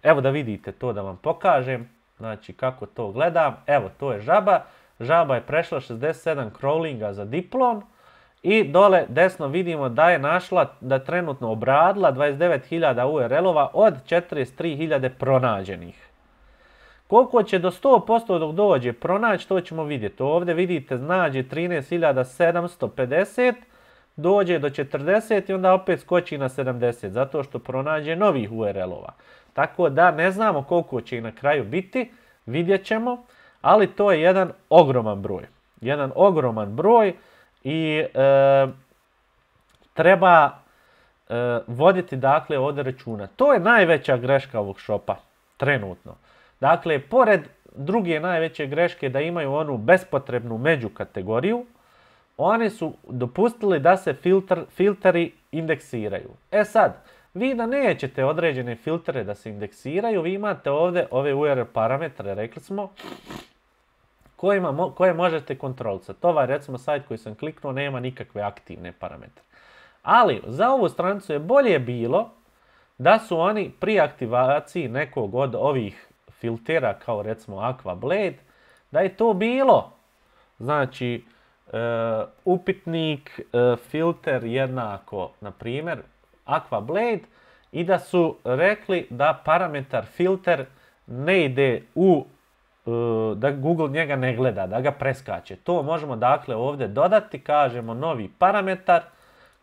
Speaker 1: Evo da vidite to, da vam pokažem, znači kako to gledam. Evo, to je žaba. Žaba je prešla 67 crawlinga za diplon. I dole desno vidimo da je našla, da je trenutno obradila 29.000 URL-ova od 43.000 pronađenih. Koliko će do 100% dok dođe pronaći, to ćemo vidjeti. Ovdje vidite, nađe 13.750, dođe do 40 i onda opet skoči na 70, zato što pronađe novih URL-ova. Tako da ne znamo koliko će i na kraju biti, vidjet ćemo, ali to je jedan ogroman broj. Jedan ogroman broj i treba voditi dakle ovdje računa. To je najveća greška ovog shopa, trenutno. Dakle, pored druge najveće greške da imaju onu bespotrebnu međukategoriju, oni su dopustili da se filteri indeksiraju. E sad, vi da nećete određene filtere da se indeksiraju, vi imate ovdje ove URL parametre, rekli smo, koje možete kontrolisati. Ovaj recimo sajt koji sam kliknuo nema nikakve aktivne parametre. Ali za ovu stranicu je bolje bilo da su oni pri aktivaciji nekog od ovih filtera kao recimo Aquablade, da je to bilo. Znači, upitnik, filter jednako, na primjer, Aquablade i da su rekli da parametar filter ne ide da Google njega ne gleda, da ga preskače. To možemo dakle ovdje dodati, kažemo novi parametar.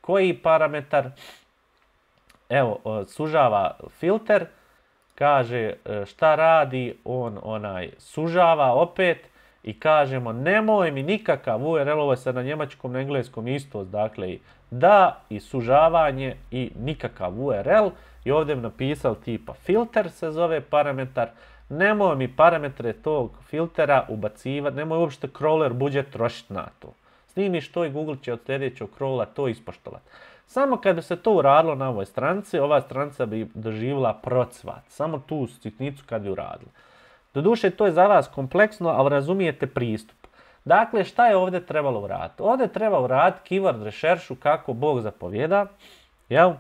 Speaker 1: Koji parametar? Evo, sužava filter, kaže šta radi, on sužava opet i kažemo nemoj mi nikakav URL, ovo je sad na njemačkom, na engleskom isto, dakle da i sužavanje i nikakav URL i ovdje bi napisao tipa filter se zove parametar, nemoj mi parametre tog filtera ubacivati, nemoj uopšte crawler budžet trošiti na to. Snimiš to i Google će od sljedećeg crawla to ispoštovati. Samo kada bi se to uradilo na ovoj stranici, ova stranica bi doživjela procvat. Samo tu sitnicu kad bi uradili. Doduše, to je za vas kompleksno, ali razumijete pristup. Dakle, šta je ovdje trebalo uraditi? Ovdje treba uraditi keyword rešeršu kako Bog zapovjeda. Jel?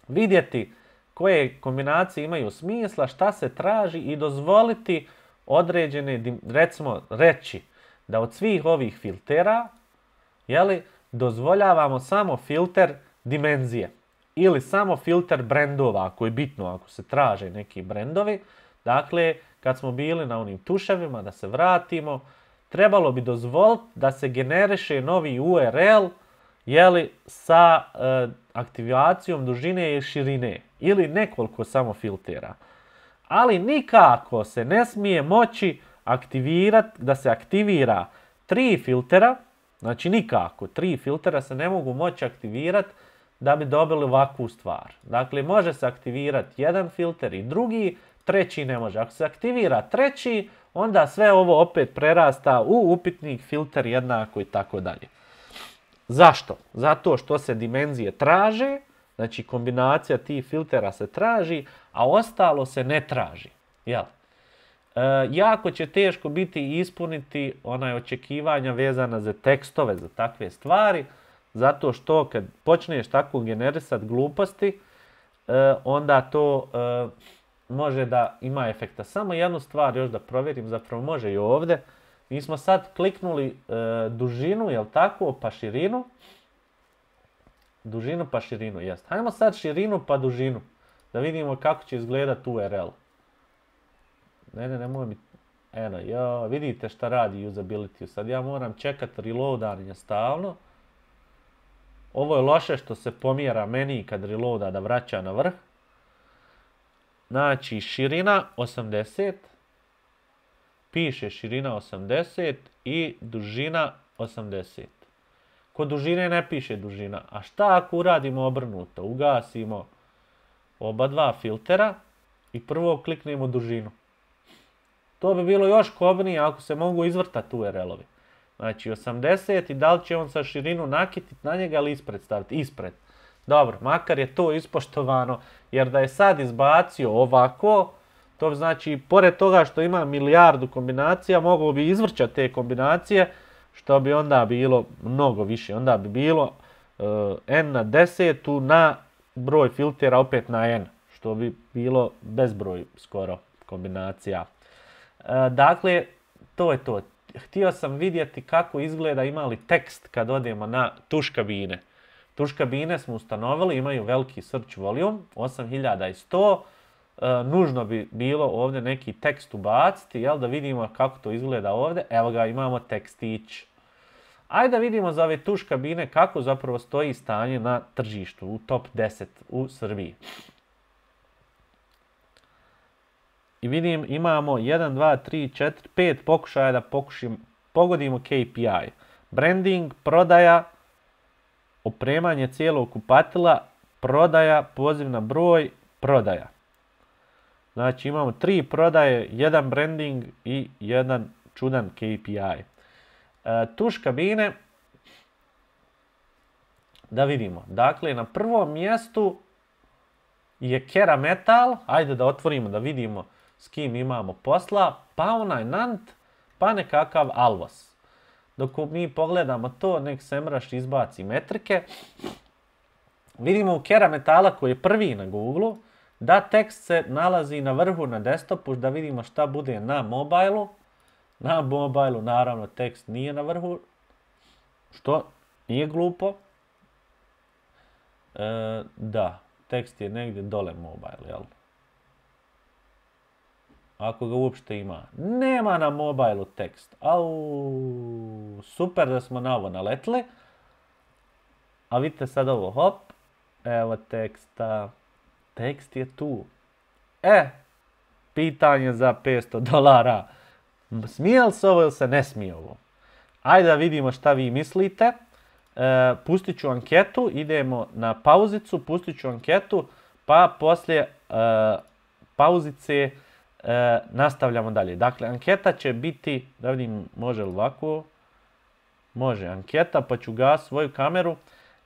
Speaker 1: Vidjeti koje kombinacije imaju smisla, šta se traži i dozvoliti određene, recimo reći da od svih ovih filtera, jeli, dozvoljavamo samo filter dimenzije ili samo filter brendova, ako je bitno, ako se traže neki brendovi. Dakle, kad smo bili na onim tuševima, da se vratimo, trebalo bi dozvoliti da se generiše novi URL, jeli, sa aktivacijom dužine i širine ili nekoliko samo filtera. Ali nikako se ne smije moći aktivirati, da se aktivira 3 filtera, znači nikako, 3 filtera se ne mogu moći aktivirati da bi dobili ovakvu stvar. Dakle, može se aktivirati jedan filter i drugi, treći ne može. Ako se aktivira treći, onda sve ovo opet prerasta u upitnik, filter jednako i tako dalje. Zašto? Zato što se dimenzije traže, znači kombinacija tih filtera se traži, a ostalo se ne traži. Jel? Jako će teško biti ispuniti očekivanja vezana za tekstove, za takve stvari, zato što kad počneš tako generisati gluposti, onda to može da ima efekta. Samo jednu stvar još da provjerim, zapravo može i ovdje. Mi smo sad kliknuli dužinu, jel tako, pa širinu. Dužinu pa širinu, jest. Hajmo sad širinu pa dužinu, da vidimo kako će izgledati URL. Nemoj mi... Eno, vidite šta radi usability. Sad ja moram čekati reloadanje stalno. Ovo je loše što se pomjera meni kad reloada da vraća na vrh. Znači, širina 80. Piše širina 80 i dužina 80. Kod dužine ne piše dužina. A šta ako uradimo obrnuto? Ugasimo oba dva filtera i prvo kliknemo dužinu. To bi bilo još kobnije ako se mogu izvrtati URL-ovi. Znači 80 i da li će on sa širinu nakititi na njega ili ispred staviti? Ispred. Dobro, makar je to ispoštovano, jer da je sad izbacio ovako, to znači, pored toga što ima milijardu kombinacija, mogao bi izvrćati te kombinacije, što bi onda bilo mnogo više. Onda bi bilo n na 10 na broj filtera opet na n, što bi bilo bezbroj skoro kombinacija. Dakle, to je to. Htio sam vidjeti kako izgleda ima li tekst kad odemo na tuš kabine. Tuš kabine smo ustanovili, imaju veliki search volume, 8100. Nužno bi bilo ovdje neki tekst ubaciti, jel, da vidimo kako to izgleda ovdje. Evo ga, imamo tekstić. Ajde da vidimo za ove tuš kabine kako zapravo stoji stanje na tržištu u top 10 u Srbiji. I vidim, imamo 1, 2, 3, 4, 5 pokušaja da pogodimo KPI. Branding, prodaja, opremanje cijelog kupatila, prodaja, poziv na broj, prodaja. Znači imamo 3 prodaje, 1 branding i 1 čudan KPI. Tuš kabine, da vidimo. Dakle, na prvom mjestu je Kera Metal. Ajde da otvorimo da vidimo s kim imamo posla. Pa onaj Nant, pa nekakav Alvos. Dok mi pogledamo to, nek Semrush izbaci metrike. Vidimo u Kera Metala koji je prvi na Google, da tekst se nalazi na vrhu na desktopu, da vidimo šta bude na mobilu. Na mobilu naravno tekst nije na vrhu, što nije glupo. Da, tekst je negdje dole mobile, jel? Ako ga uopšte ima. Nema na mobilu tekst. Au, super da smo na ovo naletli. A vidite sad ovo, hop. Evo teksta. Tekst je tu. Pitanje za $500. Smije li se ovo ili se ne smije ovo? Ajde da vidimo šta vi mislite. Pustit ću anketu, idemo na pauzicu, pustit ću anketu, pa poslije pauzice nastavljamo dalje. Dakle, anketa će biti, da vidim, može li ovako? Može, anketa, pa ću gas svoju kameru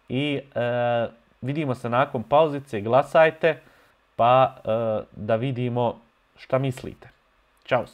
Speaker 1: i vidimo se nakon pauzice, glasajte, pa da vidimo šta mislite. Ćao!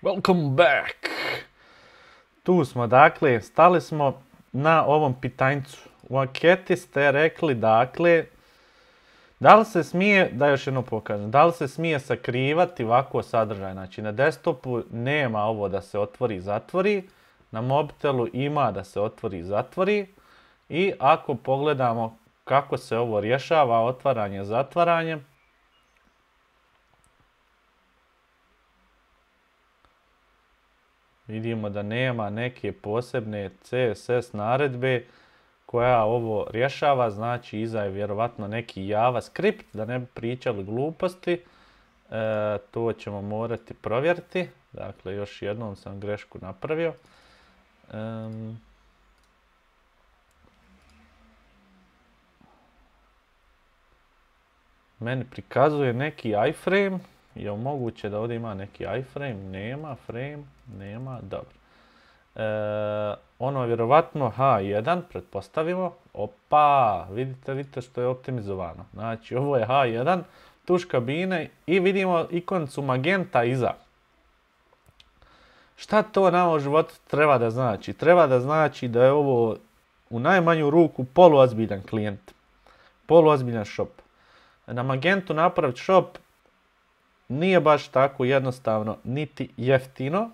Speaker 1: Welcome back! Tu smo, dakle, stali smo na ovom pitanjcu. U anketi ste rekli, dakle, da li se smije, da još jednom pokažem, da li se smije sakrivati ovako sadržaj? Znači, na desktopu nema ovo da se otvori i zatvori, na mobitelu ima da se otvori i zatvori i ako pogledamo kako se ovo rješava, otvaranje, zatvaranje, vidimo da nema neke posebne CSS naredbe koja ovo rješava, znači iza je vjerovatno neki JavaScript, da ne bi pričali gluposti, to ćemo morati provjeriti, dakle još jednom sam grešku napravio. Meni prikazuje neki iframe, je li moguće da ovdje ima neki iframe? Nema, frame, nema, dobro. Ono je vjerovatno H1, pretpostavimo. Opa, vidite što je optimizovano. Znači ovo je H1, tuš kabine i vidimo ikonicu magenta iza. Šta to nama u životu treba da znači? Treba da znači da je ovo u najmanju ruku poluozbiljan klijent. Poluozbiljan shop. Na Magentu napraviti shop nije baš tako jednostavno niti jeftino,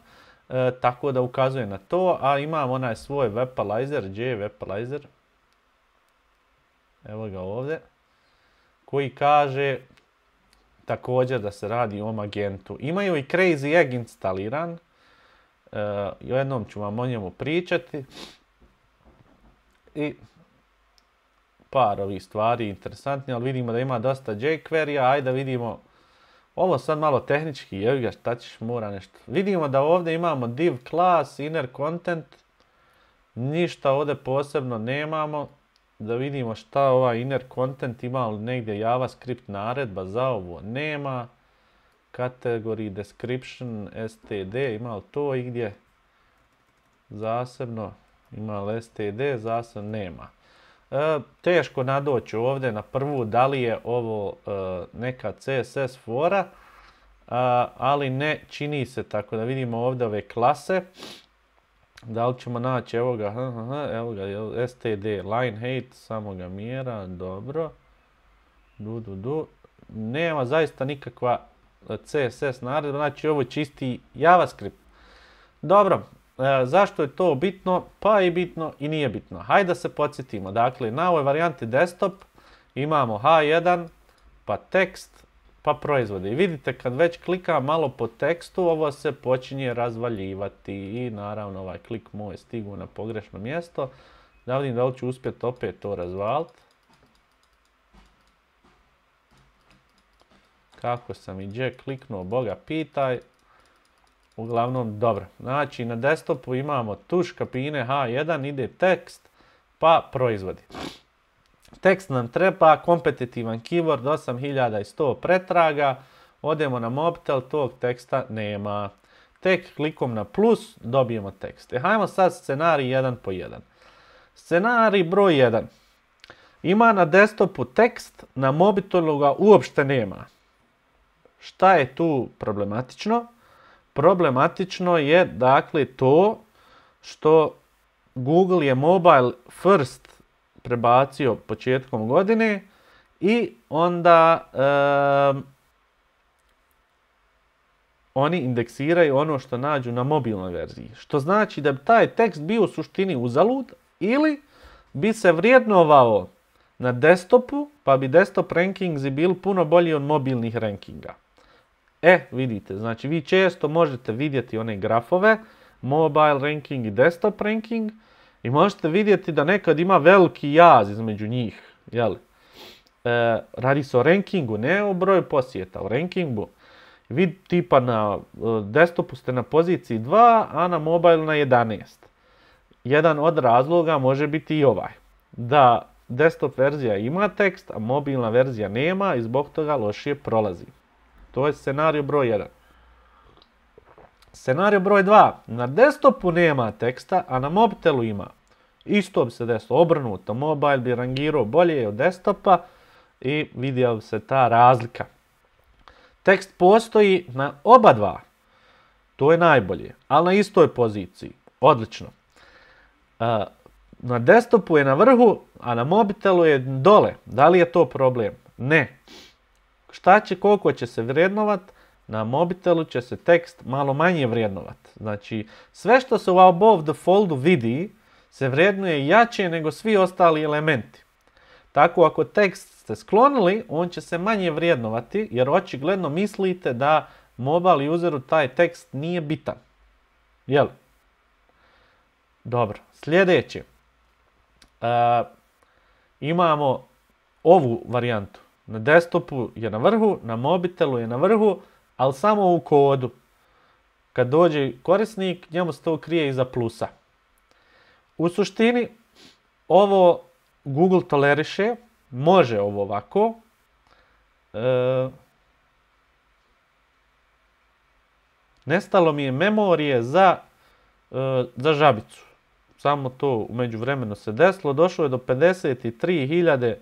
Speaker 1: tako da ukazuje na to, a imam onaj svoj Webalizer, gdje je Webalizer? Evo ga ovdje, koji kaže također da se radi o Magentu. Imaju i Crazy Egg instaliran, jednom ću vam o njemu pričati i par ovih stvari interesantni, ali vidimo da ima dosta jQuery-a, ajde da vidimo. Ovo sad malo tehnički, evo ga, šta ćeš, mora nešto. Vidimo da ovdje imamo div class, inner content, ništa ovdje posebno nemamo. Da vidimo šta ovaj inner content ima li negdje JavaScript naredba za ovo, nema. Category, description, std, ima li to igdje zasebno, ima li std, zasebno, nema. Teško nadoći ovdje na prvu da li je ovo neka CSS fora, ali ne čini se, tako da vidimo ovdje ove klase. Da li ćemo naći, evo ga, std, line height, samo ga mjera, dobro. Nema zaista nikakva CSS naredba, znači ovo je čisti JavaScript. Dobro. Zašto je to bitno? Pa i bitno i nije bitno. Hajde da se podsjetimo. Dakle, na ovoj varijanti desktop imamo H1, pa tekst, pa proizvode. I vidite kad već klikam malo po tekstu, ovo se počinje razvaljivati. I naravno ovaj klik moj stigu na pogrešno mjesto. Da vidim da li ću uspjeti opet to razvaliti. Kako sam i gdje kliknuo, Boga pitaj. Uglavnom, dobro. Znači, na desktopu imamo tuš kabine H1, ide tekst, pa proizvodi. Tekst nam treba, kompetitivan keyword, 8100 pretraga. Odemo na mobitel, tog teksta nema. Tek klikom na plus, dobijemo tekst. Hajmo sad scenarij 1 po 1. Scenarij broj 1. Ima na desktopu tekst, na mobitelu ga uopšte nema. Šta je tu problematično? Problematično je dakle to što Google je mobile first prebacio početkom godine i onda oni indeksiraju ono što nađu na mobilnoj verziji. Što znači da bi taj tekst bio u suštini uzalud ili bi se vrijednovao na desktopu pa bi desktop rankingsi bili puno bolji od mobilnih rankinga. Vidite, znači vi često možete vidjeti one grafove, mobile ranking i desktop ranking i možete vidjeti da nekad ima veliki jaz između njih, jel? Radi se o rankingu, ne o broju posjeta, o rankingu. Vi tipa na desktopu ste na poziciji 2, a na mobile na 11. Jedan od razloga može biti i ovaj, da desktop verzija ima tekst, a mobilna verzija nema i zbog toga lošije prolazi. To je scenarij broj 1. Scenarij broj 2. Na desktopu nema teksta, a na mobitelu ima. Isto bi se desilo obrnuto. Mobile bi rangirao bolje od desktopa i vidjela bi se ta razlika. Tekst postoji na oba dva. To je najbolje, ali na istoj poziciji. Odlično. Na desktopu je na vrhu, a na mobitelu je dole. Da li je to problem? Ne. Koliko će se vrednovat? Na mobitelu će se tekst malo manje vrednovat. Znači, sve što se u above the foldu vidi se vrednuje jače nego svi ostali elementi. Tako ako tekst ste sklonili, on će se manje vrednovati jer očigledno mislite da mobile useru taj tekst nije bitan. Jel? Dobro, sljedeće. Imamo ovu varijantu. Na desktopu je na vrhu, na mobitelu je na vrhu, ali samo u kodu. Kad dođe korisnik, njemu se to krije iza plusa. U suštini, ovo Google toleriše, može ovo ovako. Nestalo mi je memorije za žabicu. Samo to u međuvremenu se desilo. Došlo je do 53.000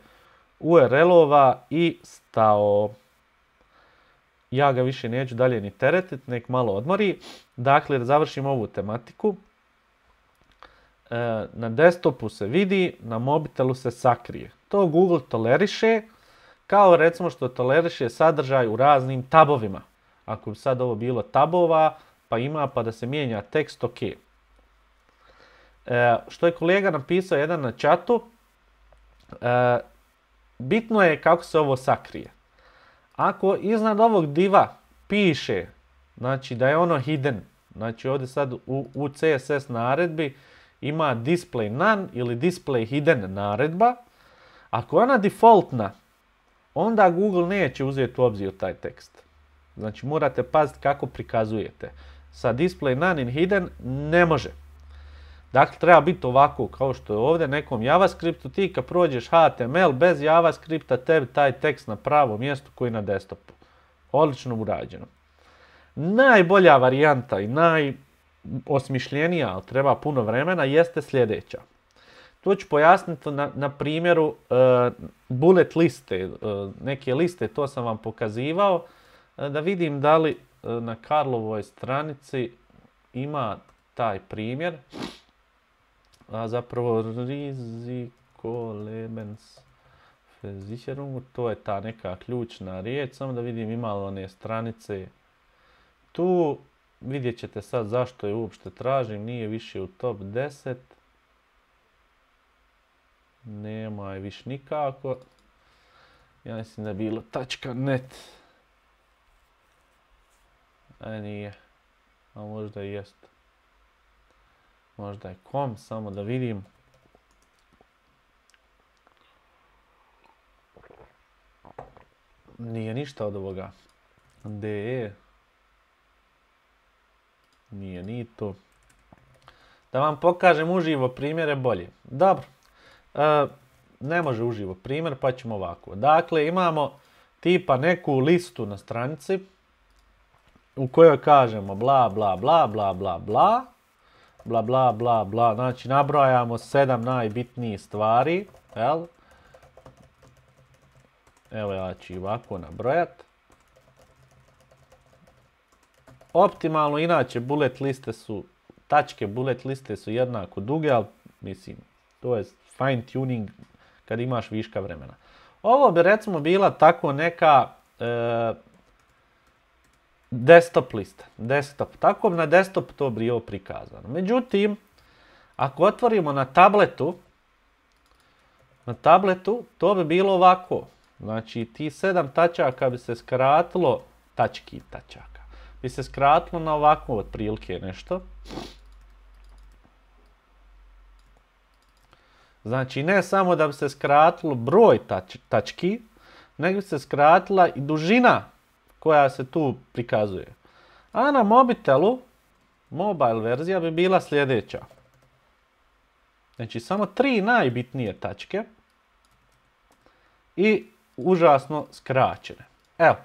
Speaker 1: URL-ova i stao. Ja ga više neću dalje ni teretiti, nek malo odmori. Dakle, da završim ovu tematiku. Na desktopu se vidi, na mobitelu se sakrije. To Google toleriše, kao recimo što toleriše sadržaj u raznim tabovima. Ako bi sad ovo bilo tabova, pa da se mijenja tekst, ok. Što je kolega napisao jedan na chatu, bitno je kako se ovo sakrije. Ako iznad ovog diva piše, znači da je ono hidden, znači ovdje sad u CSS naredbi ima display none ili display hidden naredba, ako je ona defaultna, onda Google neće uzeti u obzir taj tekst. Znači morate paziti kako prikazujete. Sa display none in hidden ne može. Dakle, treba biti ovako kao što je ovdje nekom JavaScriptu. Ti kad prođeš HTML bez JavaScripta, tebi taj tekst na pravom mjestu koji je na desktopu. Odlično urađeno. Najbolja varijanta i najosmišljenija, ali treba puno vremena, jeste sljedeća. Tu ću pojasniti na primjeru bullet liste, neke liste, to sam vam pokazivao, da vidim da li na Karlovoj stranici ima taj primjer. A zapravo Risikolebensversicherung, to je ta neka ključna riječ, samo da vidim ima li one stranice. Tu vidjet ćete sad zašto je uopšte tražim, nije više u top 10. Nema je više nikako. Ja mislim da je bilo .net. A nije. A možda i jest. Možda je com, samo da vidim. Nije ništa od ovoga. DE. Nije ni to. Da vam pokažem uživo primjere bolje. Dobro. Ne može uživo primjer, pa ćemo ovako. Dakle, imamo tipa neku listu na stranici u kojoj kažemo bla bla bla bla bla bla bla bla bla bla, znači nabrojamo 7 najbitnijih stvari, jel? Evo ja ću ovako nabrojat. Optimalno, inače bullet liste su, tačke bullet liste su jednako duge, ali mislim, to je fine tuning kad imaš viška vremena. Ovo bi recimo bila tako neka desktop lista. Desktop. Tako na desktop to bi bilo prikazano. Međutim, ako otvorimo na tabletu to bi bilo ovako. Znači, ti 7 tačaka bi se skratilo, bi se skratilo na ovako otprilike nešto. Znači, ne samo da bi se skratilo broj tački, nego bi se skratila i dužina koja se tu prikazuje. A na mobitelu, mobile verzija bi bila sljedeća. Znači, samo 3 najbitnije tačke i užasno skraćene. Evo,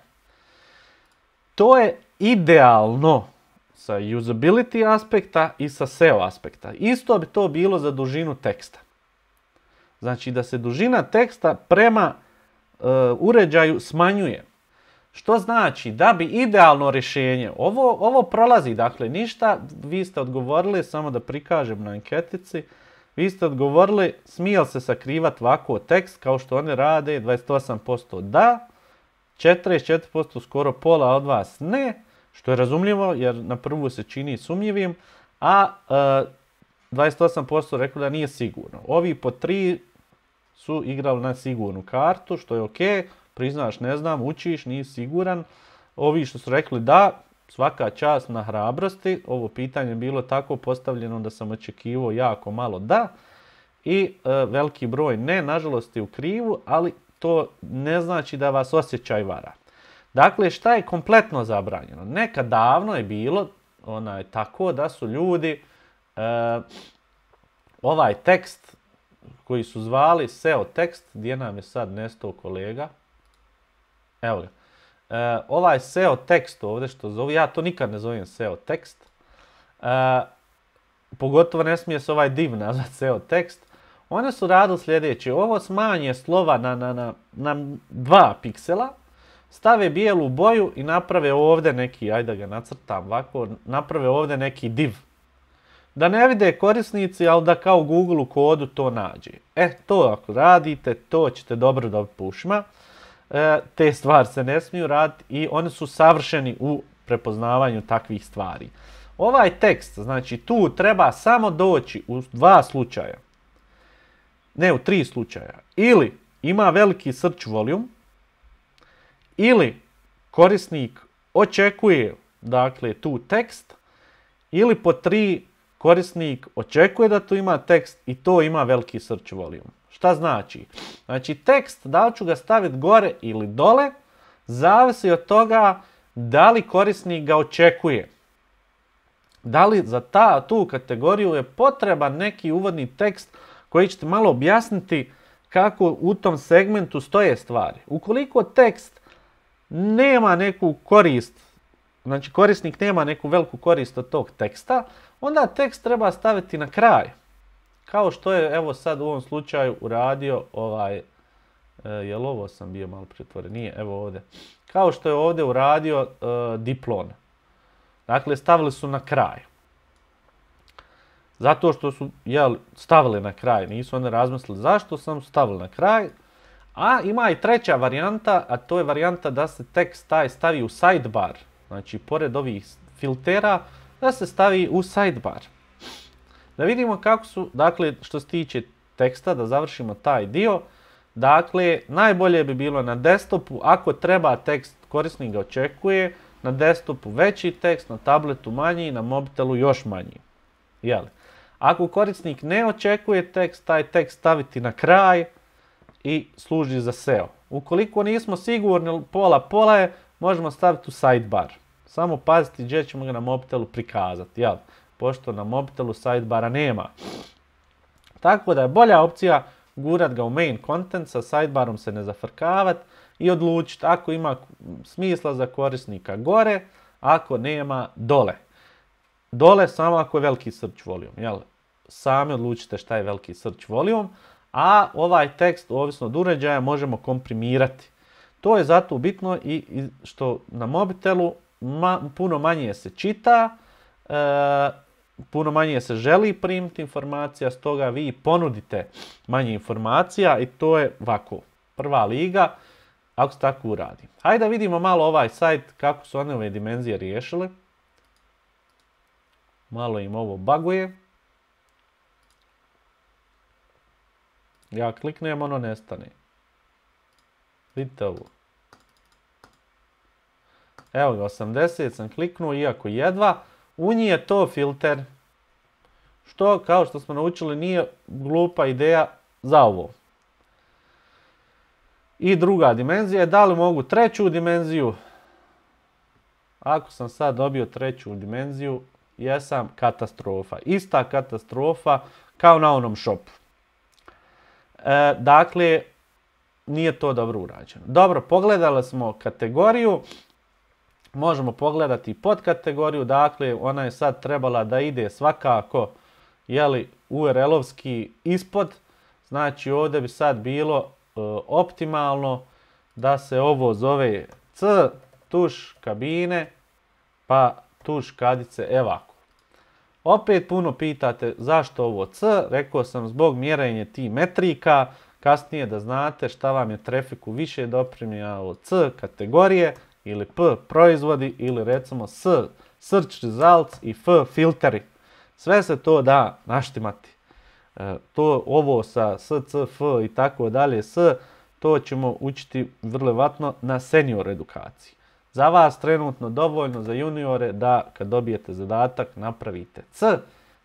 Speaker 1: to je idealno sa usability aspekta i sa SEO aspekta. Isto bi to bilo za dužinu teksta. Znači, da se dužina teksta prema uređaju smanjuje. Što znači da bi idealno rješenje, ovo prolazi, dakle ništa, vi ste odgovorili, samo da prikažem na anketici, vi ste odgovorili smije li se sakrivati ovako tekst kao što oni rade, 28% da, 44% skoro pola od vas ne, što je razumljivo jer na prvu se čini sumnjivim, a 28% rekli da nije sigurno. Ovi po 3 su igrali na sigurnu kartu, što je ok, priznaš ne znam, učiš, nisi siguran. Ovi što su rekli da, svaka čast na hrabrosti, ovo pitanje je bilo tako postavljeno da sam očekivao jako malo da i veliki broj ne, nažalost je u krivu, ali to ne znači da vas osjećaj vara. Dakle, šta je kompletno zabranjeno? Nekad davno je bilo tako da su ljudi ovaj tekst koji su zvali SEO tekst, gdje nam je sad nestao kolega, evo ga, ovaj SEO tekst ovdje što zove, ja to nikad ne zovem SEO tekst, pogotovo ne smije se ovaj div nazvati SEO tekst, one su radili sljedeće, ovo smanje slova na 2 piksela, stave bijelu boju i naprave ovdje neki, ajde da ga nacrtam ovako, naprave ovdje neki div. Da ne vide korisnici, ali da kao u Google kodu to nađe. To ako radite, to ćete dobro dobiti po ušima. Te stvari se ne smiju raditi i oni su savršeni u prepoznavanju takvih stvari. Ovaj tekst, znači tu treba samo doći u 2 slučaja. Ne, u 3 slučaja. Ili ima veliki search volume, ili korisnik očekuje, dakle, tu tekst, ili po 3 korisnik očekuje da tu ima tekst i to ima veliki search volume. Šta znači? Znači tekst, da li ću ga staviti gore ili dole, zavisi od toga da li korisnik ga očekuje. Da li za tu kategoriju je potreban neki uvodni tekst koji ćete malo objasniti kako u tom segmentu stoje stvari. Ukoliko tekst nema neku korist, znači korisnik nema neku veliku korist od tog teksta, onda tekst treba staviti na kraj. Kao što je, evo sad u ovom slučaju uradio jel ovo sam bio malo pretvoren? Nije, evo ovdje. Kao što je ovdje uradio Diplon. Dakle, stavili su na kraj. Zato što su stavili na kraj, nisu oni razmislili zašto, sam stavili na kraj. A ima i treća varijanta, a to je varijanta da se tekst taj stavi u sidebar. Znači, pored ovih filtera, da se stavi u sidebar. Da vidimo kako su, dakle, što se tiče teksta, da završimo taj dio. Dakle, najbolje bi bilo na desktopu, ako treba tekst, korisnik ga očekuje, na desktopu veći tekst, na tabletu manji, na mobitelu još manji. Ako korisnik ne očekuje tekst, taj tekst staviti na kraj i služi za SEO. Ukoliko nismo sigurni pola je, možemo staviti u sidebar. Samo paziti gdje ćemo ga na mobitelu prikazati, pošto na mobitelu sidebara nema. Tako da je bolja opcija gurat ga u main content, sa sidebarom se ne zafrkavati i odlučiti ako ima smisla za korisnika gore, ako nema dole. Dole samo ako je veliki search volume, Sami odlučite šta je veliki search volume, a ovaj tekst, ovisno od uređaja, možemo komprimirati. To je zato bitno i što na mobitelu puno manje se čita, puno manje se želi primiti informacija, stoga vi ponudite manje informacija i to je ovako, prva liga, ako se tako uradi. Hajde da vidimo malo ovaj sajt kako su one ove dimenzije riješili. Malo im ovo baguje. Ja kliknem, ono nestane. Vidite ovo. Evo ga, 80 sam kliknuo, iako jedva. U njih je to filter. Što, kao što smo naučili, nije glupa ideja za ovo. I druga dimenzija je da li mogu treću dimenziju. Ako sam sad dobio treću dimenziju, jesam, katastrofa. Ista katastrofa kao na onom shopu. Dakle, nije to dobro urađeno. Dobro, pogledali smo kategoriju. Možemo pogledati podkategoriju. Dakle, ona je sad trebala da ide svakako URL-ovski ispod. Znači, ovdje bi sad bilo optimalno da se ovo zove tuš kabine, pa tuš kadice Evako. Opet puno pitate zašto ovo C, rekao sam zbog mjerenja tih metrika, kasnije da znate šta vam je trafiku više doprinijelo C kategorije ili P proizvodi ili recimo S search results i F filteri. Sve se to da naštimati. Ovo sa S, C, F i tako dalje S, to ćemo učiti vrlo vjerojatno na senior edukaciji. Za vas trenutno dovoljno za juniore da kad dobijete zadatak napravite C,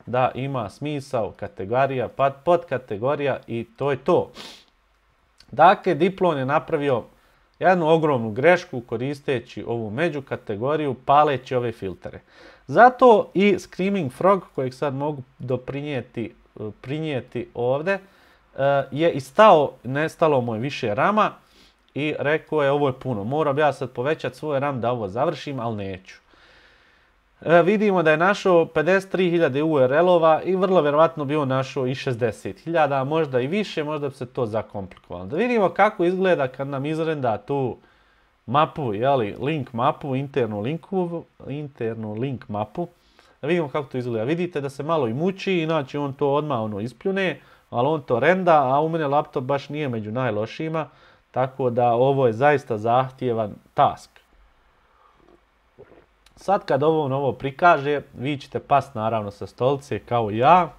Speaker 1: da ima smisao kategorija, podkategorija i to je to. Dakle, Diplon je napravio jednu ogromnu grešku koristeći ovu međukategoriju, paleći ove filtere. Zato i Screaming Frog, kojeg sad mogu prinijeti ovdje, je i nestalo mu je više rama i rekao je ovo je puno. Moram ja sad povećati svoj RAM da ovo završim, ali neću. Vidimo da je našao 53.000 URL-ova i vrlo vjerojatno bi on našao i 60.000, možda i više, možda bi se to zakomplikovalo. Da vidimo kako izgleda kad nam izrenda tu mapu, link mapu, internu link mapu. Da vidimo kako to izgleda. Vidite da se malo i muči, inače on to odmah ispljune, ali on to renda, a u mene laptop baš nije među najlošijima, tako da ovo je zaista zahtjevan task. Sad kad ovo prikaže, vi ćete past naravno sa stolice kao i ja.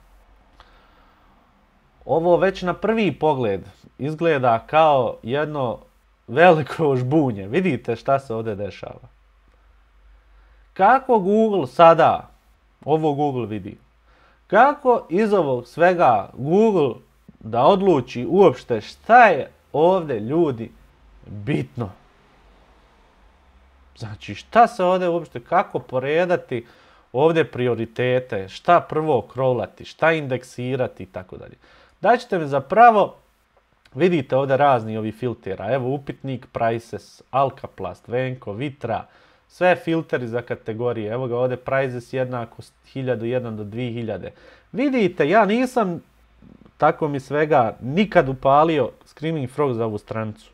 Speaker 1: Ovo već na prvi pogled izgleda kao jedno veliko žbunje. Vidite šta se ovdje dešava. Kako Google sada, ovo Google vidi, kako iz ovog svega Google da odluči uopšte šta je ovdje ljudi bitno. Znači šta se ovdje uopšte, kako poredati ovdje prioritete, šta prvo crawlati, šta indeksirati i tako dalje. Daćete mi zapravo, vidite ovdje razni ovi filtera, evo upitnik, prices, Alkaplast, Venko, Vitra, sve filteri za kategorije, evo ga ovdje prices jednako 1001 do 2000. Vidite, ja nisam, tako mi svega, nikad upalio Screaming Frog za ovu stranicu.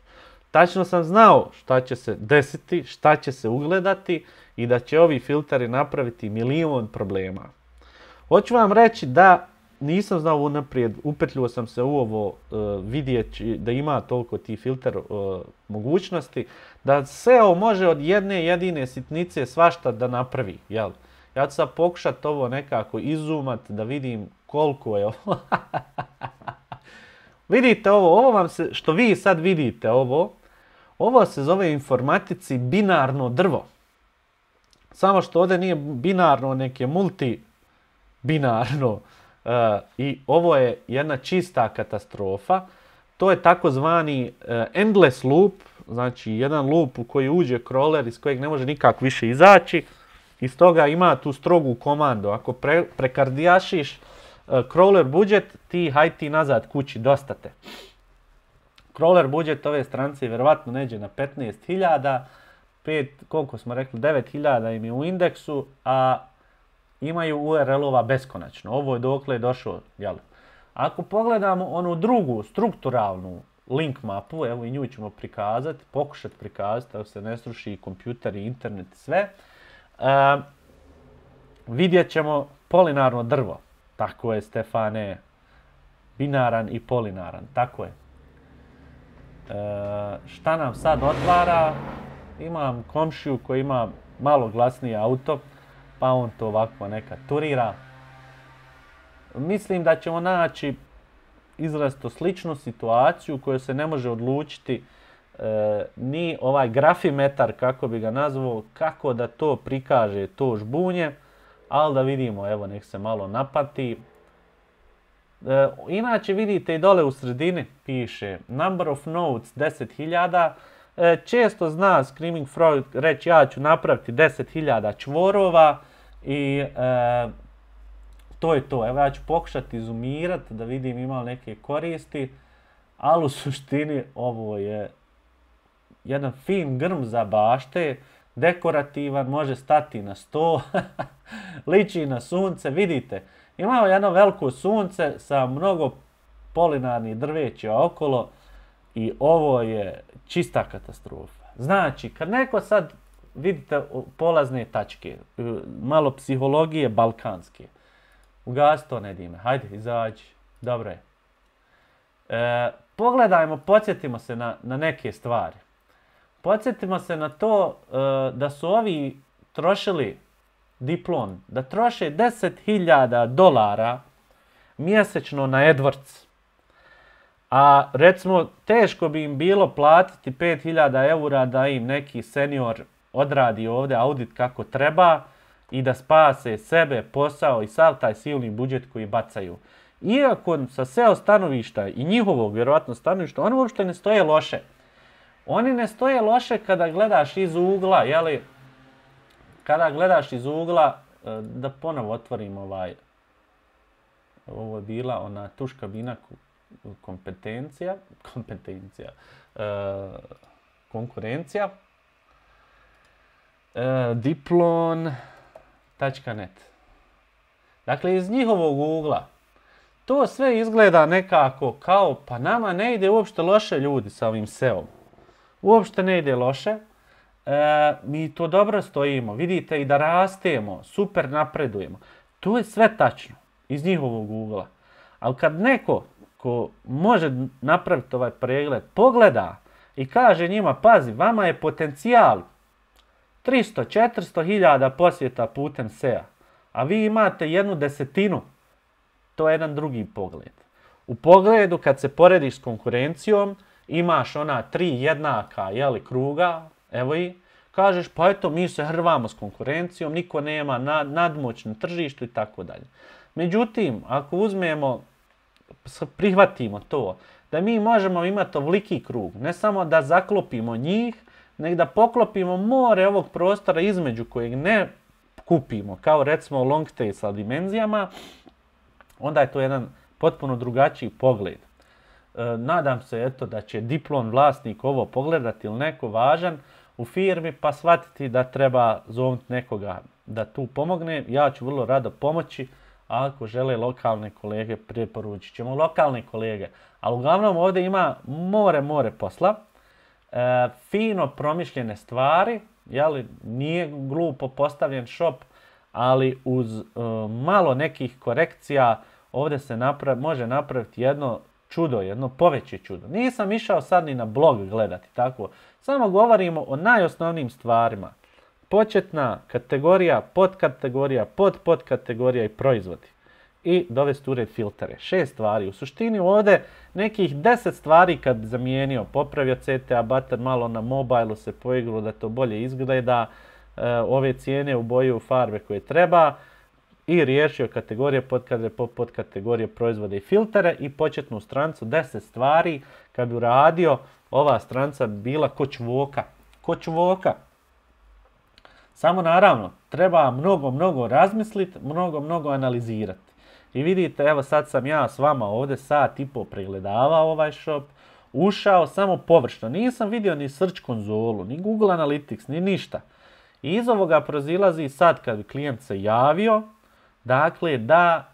Speaker 1: Tačno sam znao šta će se desiti, šta će se ugledati i da će ovi filteri napraviti milion problema. Hoću vam reći da nisam znao unaprijed, upetljio sam se u ovo vidjeti da ima toliko tih filter mogućnosti, da SEO može od jedne jedine sitnice svašta da napravi. Jel? Ja ću sad pokušati ovo nekako izumat da vidim koliko je ovo. Vidite ovo vam se, što vi sad vidite ovo se zove informatici binarno drvo. Samo što ovdje nije binarno, nek je multibinarno. I ovo je jedna čista katastrofa. To je takozvani endless loop, znači jedan loop u koji uđe crawler iz kojeg ne može nikak više izaći. Iz toga ima tu strogu komandu. Ako prekardijašiš crawler budžet, haj ti nazad kući, dosta te. Crawler budžet ove stranice vjerovatno neđe na 15.000, koliko smo rekli, 9.000 im je u indeksu, a imaju URL-ova beskonačno. Ovo je dokle je došao. Jel? Ako pogledamo onu drugu strukturalnu link mapu, evo i nju ćemo prikazati, pokušati prikazati, ako se ne sruši kompjuter i internet i sve, vidjet ćemo polinarno drvo. Tako je, Stefane, binaran i polinaran, tako je. Šta nam sad otvara? Imam komšiju koji ima malo glasniji auto, pa on to ovako neka turira. Mislim da ćemo naći izrazito sličnu situaciju u kojoj se ne može odlučiti ni ovaj grafimetar, kako bi ga nazvao, kako da to prikaže to žbunje, ali da vidimo, evo nek se malo napati. Inače vidite i dole u sredini piše number of nodes 10.000. Često zna Screaming Frog reći ja ću napraviti 10.000 čvorova i to je to. Evo ja ću pokušati zoomirati da vidim ima li neke koristi, ali u suštini ovo je jedan fin grm za bašte, dekorativan, može stati na sto, liči na sunce, vidite. Imamo jedno veliko sunce sa mnogo polinarnih drveća okolo i ovo je čista katastrofa. Znači, kad neko sad vidite polazne tačke, malo psihologije balkanske. Ugasi to, Nedime, hajde, izađi, dobro je. Pogledajmo, podsjetimo se na neke stvari. Podsjetimo se na to da su ovi trošili diplom, da troše $10.000 mjesečno na AdWords. A recimo teško bi im bilo platiti 5.000 eura da im neki senior odradi ovdje audit kako treba i da spase sebe, posao i sav taj silni budžet koji bacaju. Iako sa SEO stanovišta i njihovog vjerojatno stanovišta, oni uopšte ne stoje loše. Oni ne stoje loše kada gledaš iz ugla, jeli? Kada gledaš iz ugla, da ponovo otvorim ovo je bila ona tuš kabina konkurencija, diplon.net. Dakle, iz njihovog ugla, to sve izgleda nekako kao, pa nama ne ide uopšte loše ljudi sa ovim SEO-om. Uopšte ne ide loše. Mi to dobro stojimo, vidite i da rastemo, super napredujemo. To je sve tačno iz njihovog ugla. Ali kad neko ko može napraviti ovaj pregled pogleda i kaže njima, pazi, vama je potencijal 300-400 hiljada posjeta putem SEA, a vi imate 1/10, to je jedan drugi pogled. U pogledu kad se porediš s konkurencijom, imaš ona 3 jednaka kruga, evo i kažeš pa eto mi se hrvamo s konkurencijom, niko nema nadmoć na tržištu i tako dalje. Međutim, ako uzmemo, prihvatimo to, da mi možemo imati ovoliki krug, ne samo da zaklopimo njih, nego da poklopimo more ovog prostora između kojeg ne kupimo, kao recimo long tail sa dimenzijama, onda je to jedan potpuno drugačiji pogled. Nadam se eto da će diplom vlasnik ovo pogledati ili neko važan u firmi pa shvatiti da treba zovnuti nekoga da tu pomogne. Ja ću vrlo rado pomoći, a ako žele lokalne kolege preporučit ćemo lokalne kolege. Ali uglavnom ovdje ima more posla, fino promišljene stvari, nije glupo postavljen shop, ali uz malo nekih korekcija ovdje se može napraviti jedno čudo, jedno poveće čudo. Nisam išao sad ni na blog gledati tako. Samo govorimo o najosnovnijim stvarima. Početna kategorija, podkategorija, podkategorija i proizvodi. I dovesti ured filtere. 6 stvari. U suštini ovdje nekih 10 stvari kad bi zamijenio, popravio CTA button, malo na mobilu se poigralo da to bolje izgleda, ove cijene u boju farbe koje treba i riješio kategorije, podkategorije, proizvode i filtere i početnu strancu 10 stvari. Kad bi uradio, ova stranca bi bila ko čvoka. Samo naravno, treba mnogo razmisliti, mnogo analizirati. I vidite, evo sad sam ja s vama ovdje sat i pol pregledavao ovaj shop, ušao samo površno, nisam vidio ni search konzolu, ni Google Analytics, ni ništa. I iz ovoga proizilazi sad kad bi klijent se javio, dakle da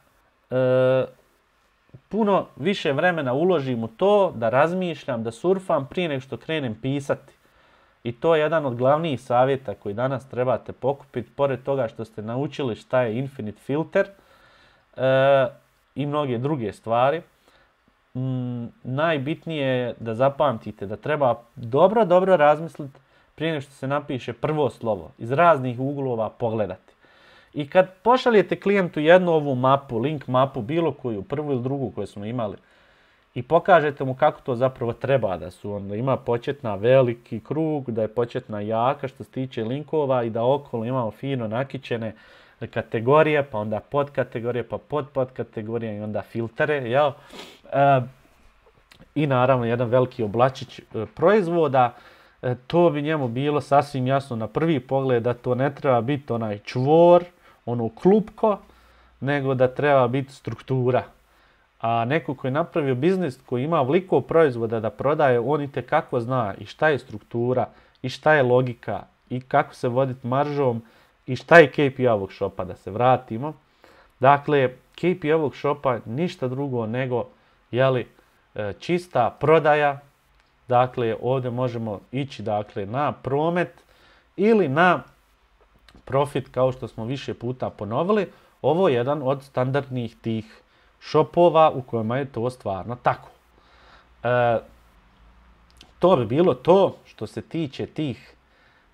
Speaker 1: puno više vremena uložim u to, da razmišljam, da surfam prije nego što krenem pisati. I to je jedan od glavnijih savjeta koji danas trebate pokupiti, pored toga što ste naučili šta je Infinite Filter i mnoge druge stvari. Najbitnije je da zapamtite da treba dobro razmisliti prije nego što se napiše prvo slovo, iz raznih uglova pogledati. I kad pošaljete klijentu jednu ovu mapu, link mapu, bilo koju, prvu ili drugu koju smo imali, i pokažete mu kako to zapravo treba da su, onda ima početna veliki krug, da je početna jaka što se tiče linkova i da okolo imamo fino nakićene kategorije, pa onda podkategorije, pa podkategorije i onda filtere, jel? I naravno jedan veliki oblačić proizvoda. To bi njemu bilo sasvim jasno na prvi pogled da to ne treba biti onaj čvor, ono klupko, nego da treba biti struktura. A neko koji je napravio biznis, koji ima ovoliko proizvoda da prodaje, on itekako zna i šta je struktura, i šta je logika, i kako se voditi maržom, i šta je KPI ovog shopa, da se vratimo. Dakle, KPI ovog shopa ništa drugo nego čista prodaja. Dakle, ovdje možemo ići na promet ili na profit, kao što smo više puta ponovili. Ovo je jedan od standardnih tih shopova u kojima je to stvarno tako. To bi bilo to što se tiče tih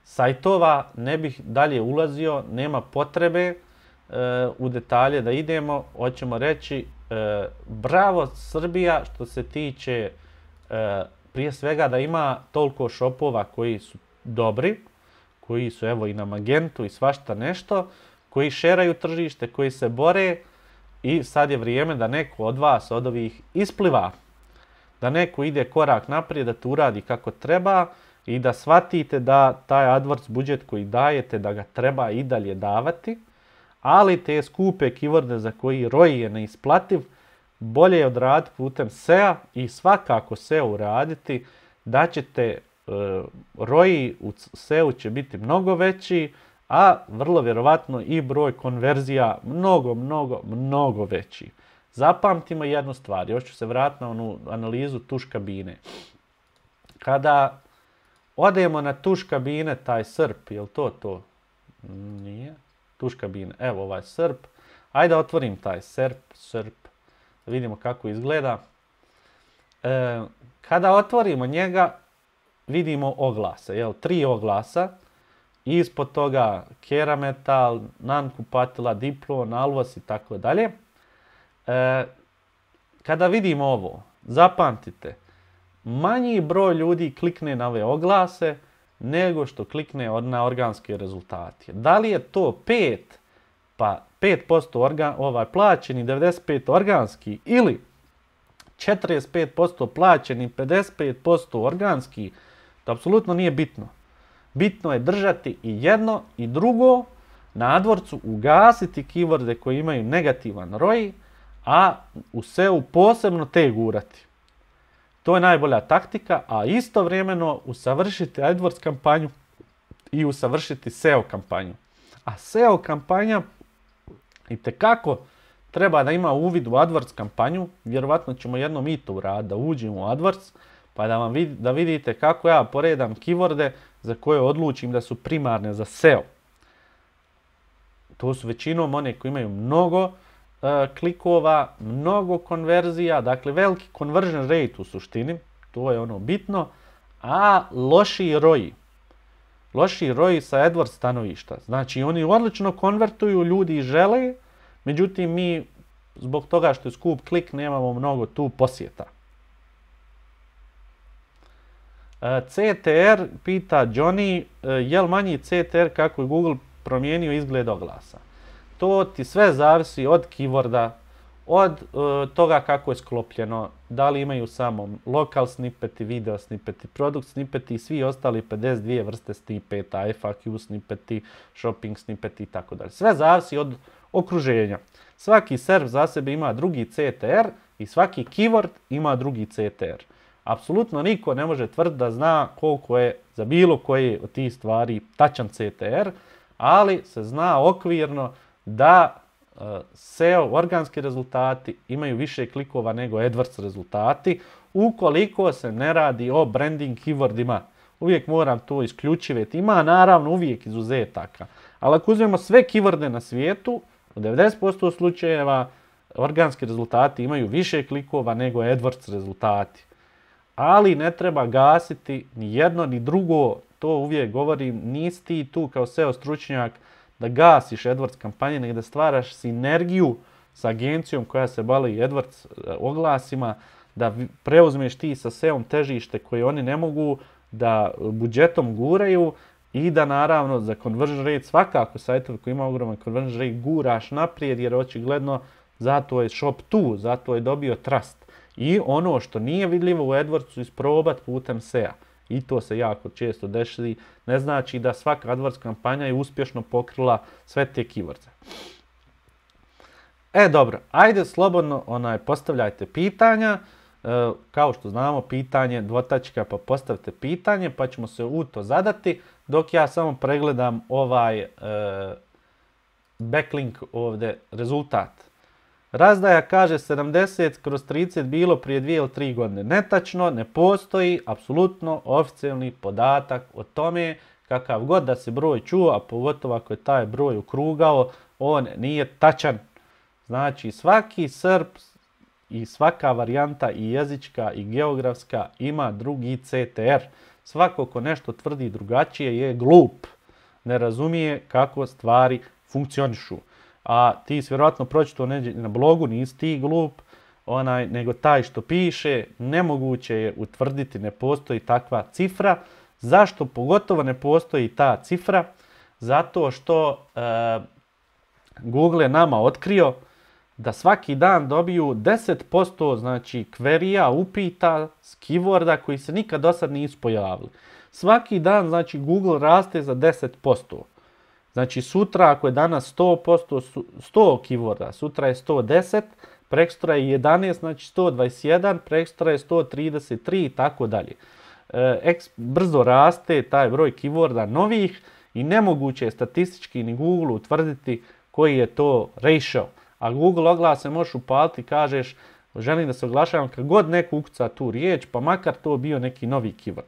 Speaker 1: sajtova. Ne bih dalje ulazio, nema potrebe u detalje da idemo. Hoćemo reći bravo Srbija što se tiče prije svega da ima toliko shopova koji su dobri, koji su evo i na Magentu i svašta nešto, koji šeraju tržište, koji se bore i sad je vrijeme da neko od vas od ovih ispliva, da neko ide korak naprijed, da to uradi kako treba i da shvatite da taj AdWords budžet koji dajete, da ga treba i dalje davati, ali te skupe keyworde za koji ROI je neisplativ, bolje je odraditi putem SEA i svakako SEO uraditi, da ćete ROI u SEO će biti mnogo veći, a vrlo vjerovatno i broj konverzija mnogo veći. Zapamtimo jednu stvar, još ću se vratiti na onu analizu tuš kabine. Kada odemo na tuš kabine, taj SERP, je li to? Nije. Tuš kabine, evo ovaj SERP. Ajde otvorim taj SERP, da vidimo kako izgleda. Kada otvorimo njega, vidimo oglase, 3 oglasa. Ispod toga Kerametal, Nankupatila, Diplo, Nalvos i tako dalje. Kada vidimo ovo, zapamtite, manji broj ljudi klikne na ove oglase nego što klikne na organske rezultate. Da li je to 5, pa 5% plaćeni, 95% organski ili 45% plaćeni, 55% organski, to apsolutno nije bitno. Bitno je držati i jedno i drugo, na AdWordsu ugasiti keyworde koji imaju negativan ROI, a u SEO posebno te gurati. To je najbolja taktika, a istovremeno usavršiti AdWords kampanju i usavršiti SEO kampanju. A SEO kampanja itekako treba da ima uvid u AdWords kampanju. Vjerovatno ćemo jednom i to uraditi, da uđemo u AdWords, pa da vidite kako ja poredam keyworde za koje odlučim da su primarne za SEO. To su većinom one koji imaju mnogo klikova, mnogo konverzija, dakle veliki conversion rate u suštini, to je ono bitno, a loši ROI. Loši ROI sa AdWords stanovišta. Znači oni odlično konvertuju, ljudi žele, međutim mi zbog toga što je skup klik nemamo mnogo tu posjeta. CTR, pita Johnny, je li manji CTR kako je Google promijenio izgled oglasa? To ti sve zavisi od keyworda, od toga kako je sklopljeno, da li imaju samo local snippeti, video snippeti, product snippeti i svi ostali 52 vrste snippeta, FAQ snippeti, shopping snippeti itd. Sve zavisi od okruženja. Svaki serv za sebe ima drugi CTR i svaki keyword ima drugi CTR. Apsolutno niko ne može tvrditi da zna koliko je za bilo koje od tih stvari tačan CTR, ali se zna okvirno da SEO, organski rezultati imaju više klikova nego AdWords rezultati, ukoliko se ne radi o branding keywordima. Uvijek moram to isključivati. Ima naravno uvijek izuzetaka, ali ako uzmemo sve keyworde na svijetu, u 90% slučajeva organski rezultati imaju više klikova nego AdWords rezultati. Ali ne treba gasiti ni jedno ni drugo, to uvijek govorim, nisi ti tu kao SEO stručnjak da gasiš AdWords kampanje, nego da stvaraš sinergiju sa agencijom koja se bavi AdWords oglasima, da preuzmeš ti sa SEO-om težište koje oni ne mogu, da budžetom guraju i da naravno za conversion rate svakako sajtove koji ima ogroman conversion rate guraš naprijed jer očigledno zato je shop tu, zato je dobio trust. I ono što nije vidljivo u AdWordsu isprobat putem SEA. I to se jako često desi. Ne znači da svaka AdWords kampanja je uspješno pokrila sve te keywords. Dobro, ajde slobodno postavljajte pitanja. Kao što znamo, pitanje dvotačka, pa postavite pitanje, pa ćemo se u to zadati. Dok ja samo pregledam ovaj backlink ovdje, rezultat. Razdaja kaže 70/30 bilo prije 2 ili 3 godine. Netačno, ne postoji apsolutno oficijalni podatak o tome kakav god da se broj čuo, a pogotovo ako je taj broj ukrugao, on nije tačan. Znači svaki Srb i svaka varijanta i jezička i geografska ima drugi CTR. Svako ko nešto tvrdi drugačije je glup. Ne razumije kako stvari funkcionišu. A ti si vjerojatno pročitao na blogu, nisi ti glup, nego taj što piše, nemoguće je utvrditi, ne postoji takva cifra. Zašto pogotovo ne postoji ta cifra? Zato što Google je nama otkrio da svaki dan dobiju 10% znači kverija, upita s keyworda koji se nikad do sad nisu pojavili. Svaki dan znači Google raste za 10%. Znači sutra ako je danas 100% 100 keyworda, sutra je 110, prekstra je 11, znači 121, prekstra je 133 i tako dalje. Brzo raste taj broj keyworda novih i nemoguće je statistički ni Google utvrditi koji je to ratio. A Google oglase možeš upaliti, kažeš želim da se oglašavam kad god neko ukuca tu riječ, pa makar to bio neki novi keyword.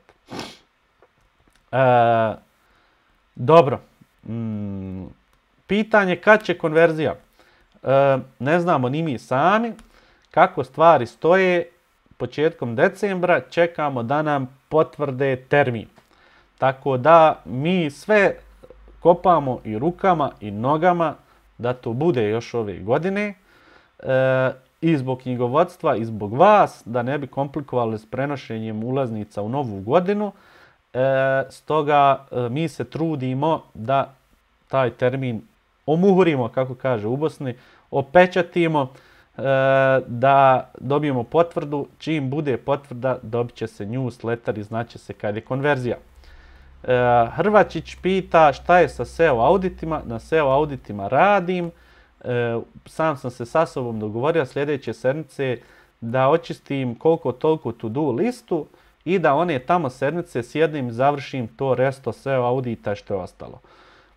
Speaker 1: Dobro. Pitanje kad će konverzija? Ne znamo ni mi sami. Kako stvari stoje, početkom decembra čekamo da nam potvrde termin. Tako da mi sve kopamo i rukama i nogama da to bude još ove godine. I zbog knjigovodstva i zbog vas, da ne bi komplikovali s prenošenjem ulaznica u novu godinu. Stoga mi se trudimo da taj termin omuhurimo, kako kaže u Bosni, opečatimo, da dobijemo potvrdu. Čim bude potvrda, dobit će se newsletter i znaće se kad je konverzija. Hrvačić pita šta je sa SEO auditima. Na SEO auditima radim. Sam sam se sa sobom dogovorio sljedeće sedmice da očistim koliko toliko to-do listu i da one tamo sedmice sjednem i završim to resto SEO audita što je ostalo.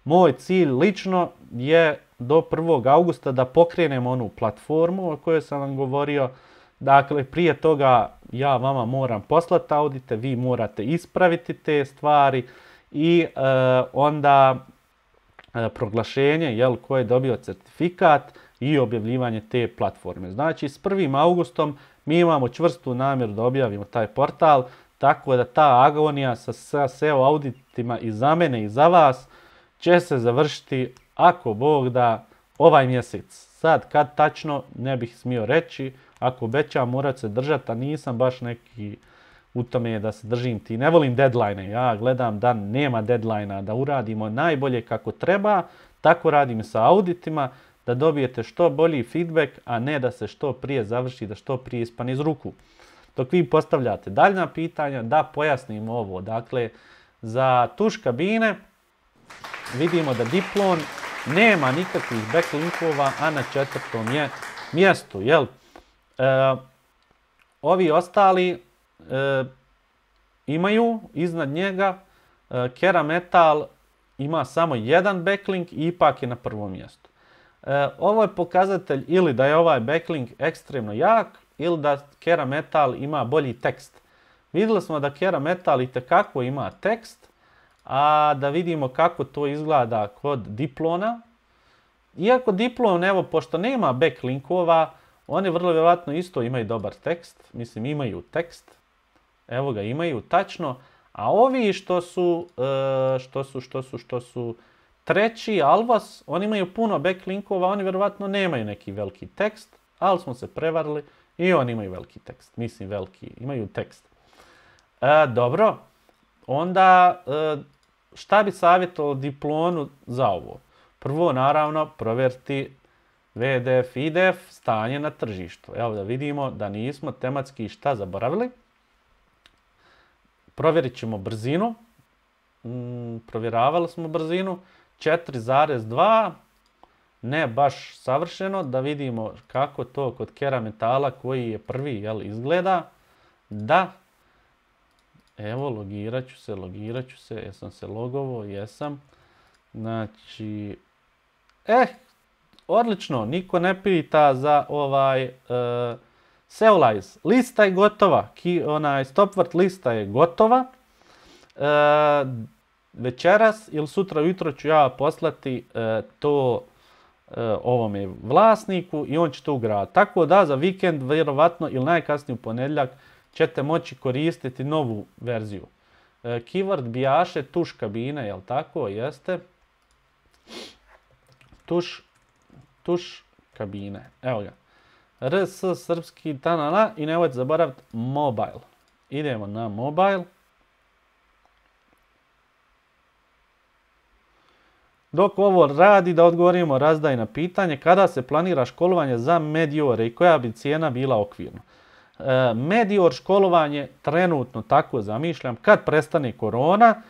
Speaker 1: Moj cilj lično je do 1. augusta da pokrenem onu platformu o kojoj sam vam govorio. Dakle, prije toga ja vama moram poslati audite, vi morate ispraviti te stvari i onda proglašenje ko je dobio certifikat i objavljivanje te platforme. Znači, s 1. augustom mi imamo čvrstu namjeru da objavimo taj portal, tako da ta agonija sa SEO auditima i za mene i za vas će se završiti, ako Bog da, ovaj mjesec. Sad, kad tačno, ne bih smio reći. Ako obećam, morat se držati, a nisam baš neki u tome da se držim ti. Ne volim deadline. Ja gledam da nema deadline-a, da uradimo najbolje kako treba. Tako radim sa auditima, da dobijete što bolji feedback, a ne da se što prije završi, da što prije ispane iz ruku. Dok vi postavljate daljna pitanja, da pojasnim ovo. Dakle, za tuš kabine vidimo da Diplon nema nikakvih backlinkova, a na 4. je mjestu. Ovi ostali imaju iznad njega. Kerametal ima samo jedan backlink i ipak je na 1. mjestu. Ovo je pokazatelj ili da je ovaj backlink ekstremno jak ili da Kerametal ima bolji tekst. Vidjeli smo da Kerametal itekako ima tekst, a da vidimo kako to izgleda kod Diplona. Iako Diplon, evo, pošto nema backlinkova, oni vrlo vjerojatno isto imaju dobar tekst. Mislim, imaju tekst. Evo ga, imaju tačno. A ovi što su treći, Alvos, oni imaju puno backlinkova, oni vjerojatno nemaju neki veliki tekst, ali smo se prevarili i oni imaju veliki tekst. Mislim, imaju tekst. Dobro, onda šta bi savjetovao Diplonu za ovo? Prvo, naravno, provjeriti VDF, IDF, stanje na tržištu. Evo da vidimo da nismo tematski šta zaboravili. Provjerit ćemo brzinu. Provjeravali smo brzinu. 4,2. Ne baš savršeno. Da vidimo kako to kod Kerametala koji je prvi izgleda. Da. Evo, logirat ću se. Jesam se logovao? Jesam. Znači, odlično, niko ne pita za Seolize. Lista je gotova, stopword lista je gotova. večeras ili sutra ujutro ću ja poslati to ovome vlasniku i on će to ugraditi. Tako da za vikend vjerovatno ili najkasnije u ponedjeljak ćete moći koristiti novu verziju. Keyword bijaše tuš kabine, jel tako? Jeste. Tuš kabine. Evo ga. RS srpski tanana i nemojte zaboraviti mobile. Idemo na mobile. Dok ovo radi, da odgovorimo razdaj na pitanje kada se planira školovanje za Mediore i koja bi cijena bila okvirno. Medior školovanje trenutno tako zamišljam, kad prestane korona,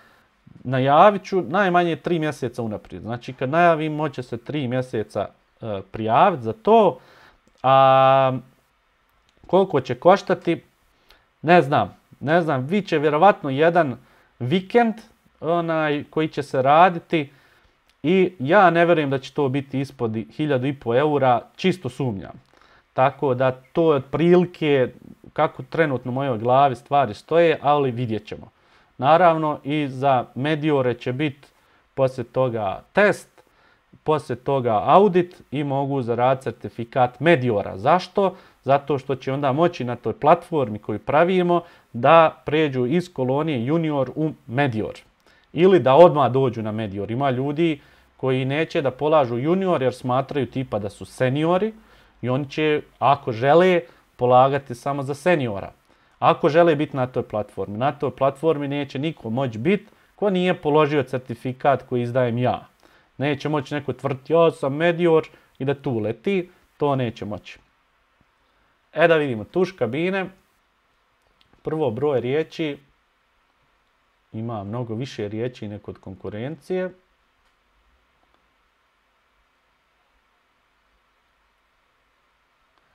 Speaker 1: najavit ću najmanje 3 mjeseca unaprijed. Znači kad najavim moće se 3 mjeseca prijaviti za to, a koliko će koštati, ne znam, bit će vjerovatno jedan vikend koji će se raditi i ja ne vjerujem da će to biti ispod 1.500 eura, čisto sumnjam. Tako da to je otprilike kako trenutno u mojoj glavi stvari stoje, ali vidjet ćemo. Naravno i za Mediore će biti poslije toga test, poslije toga audit i mogu zaraditi certifikat Mediora. Zašto? Zato što će onda moći na toj platformi koju pravimo da pređu iz kolonije junior u Medior. Ili da odmah dođu na Medior. Ima ljudi koji neće da polažu junior jer smatraju tipa da su seniori i oni će, ako žele, polagati samo za seniora. Ako žele biti na toj platformi. Na toj platformi neće niko moći biti ko nije položio certifikat koji izdajem ja. Neće moći neko tvrditi ja sam Medior i da tu leti. To neće moći. Da vidimo tuš kabine. Prvo broj riječi. Ima mnogo više riječi nego od konkurencije.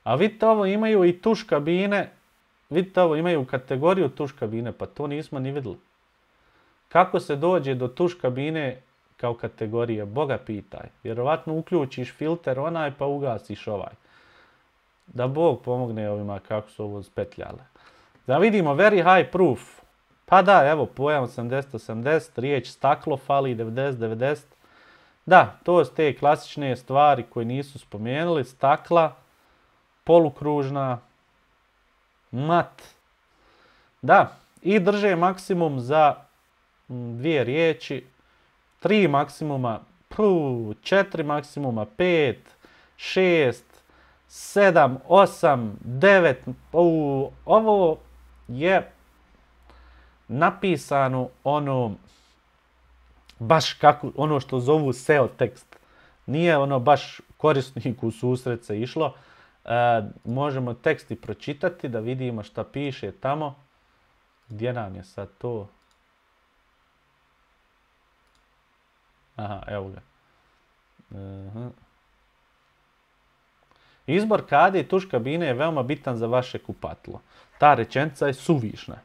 Speaker 1: A vidite ovo imaju i tuš kabine. Vidite ovo imaju kategoriju tuš kabine. Pa to nismo ni vidjeli. Kako se dođe do tuš kabine kao kategorije? Boga pitaj. Vjerovatno uključiš filter onaj pa ugasiš ovaj. Da Bog pomogne ovima kako su ovo spetljale. Da vidimo very high proof. Pa da, evo pojam 80-80, riječ staklo fali 90-90. Da, to su te klasične stvari koje nisu spomenuli. Stakla, polukružna, mat. Da, i drže maksimum za 2 riječi, 3 maksimuma, 4 maksimuma, 5, 6, 7, 8, 9. Ovo je napisano baš kako, ono što zovu SEO tekst. Nije ono baš korisniku u susret se išlo. Možemo tekst i pročitati da vidimo šta piše tamo. Gdje nam je sad to? Aha, evo ga. Izbor kade i tuš kabine je veoma bitan za vaše kupatilo. Ta rečenica je suvišna.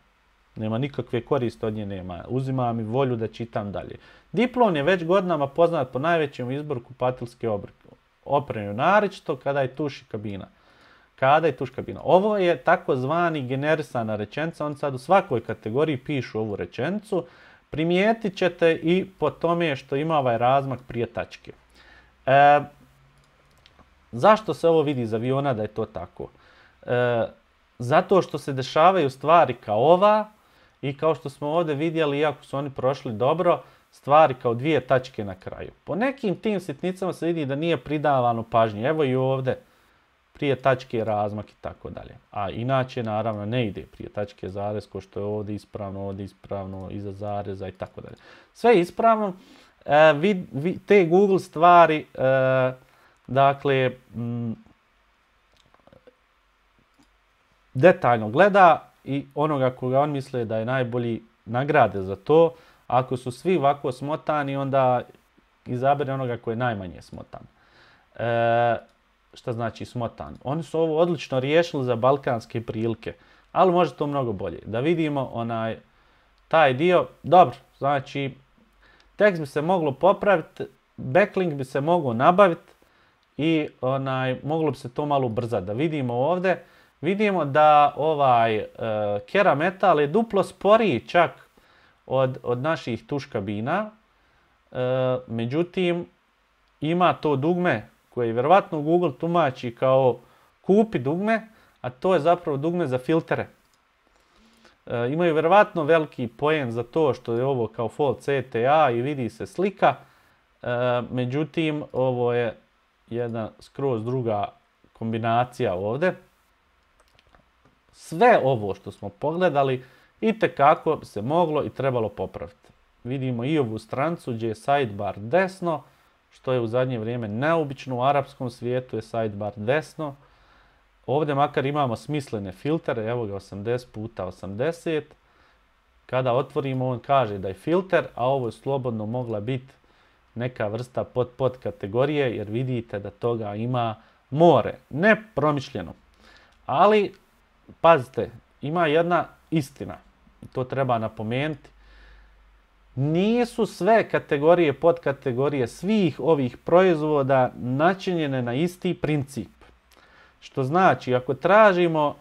Speaker 1: Nema nikakve koriste od nje nema. Uzima mi volju da čitam dalje. Diplon je već godinama poznat po najvećem izboru kupatilske opreme. Naročito kada je tuš i kabina. Kada je tuš kabina. Ovo je takozvani generisana rečenica. On sad u svakoj kategoriji pišu ovu rečenicu. Primijetit ćete i po tome što ima ovaj razmak prije tačke. Zašto se ovo vidi iz aviona da je to tako? Zato što se dešavaju stvari kao ova i kao što smo ovdje vidjeli, iako su oni prošli dobro, stvari kao 2 tačke na kraju. Po nekim tim sitnicama se vidi da nije pridavano pažnje. Evo i ovdje prije tačke razmak i tako dalje. A inače naravno ne ide prije tačke zarez ko što je ovdje ispravno, iza zareza i tako dalje. Sve je ispravno. Te Google stvari, dakle, detaljno gleda i onoga koga on misle da je najbolji nagrade za to. Ako su svi ovako smotani, onda izabere onoga koji je najmanje smotan. Šta znači smotan? Oni su ovo odlično riješili za balkanske prilike, ali može to mnogo bolje. Da vidimo taj dio. Dobro, znači tekst bi se moglo popraviti, backlink bi se moglo nabaviti i moglo bi se to malo ubrzati. Da vidimo ovdje, vidimo da ovaj Kera Metal je duplo sporiji čak od naših tuš kabina. Međutim, ima to dugme koje vjerovatno Google tumači kao kupi dugme, a to je zapravo dugme za filtere. Imaju vjerovatno veliki poen za to što je ovo kao Full CTA i vidi se slika. Međutim, ovo je jedna skroz druga kombinacija ovdje. Sve ovo što smo pogledali itekako se moglo i trebalo popraviti. Vidimo i ovu stranicu gdje je sidebar desno, što je u zadnje vrijeme neobično. U arapskom svijetu je sidebar desno. Ovdje makar imamo smislene filtere, evo ga 80x80. Kada otvorimo, on kaže da je filter, a ovo je slobodno mogla biti neka vrsta pod kategorije, jer vidite da toga ima more. Ne promišljeno. Ali, pazite, ima jedna istina. To treba napomenuti. Nisu sve kategorije, podkategorije svih ovih proizvoda načinjene na isti princip. Što znači, ako tražimo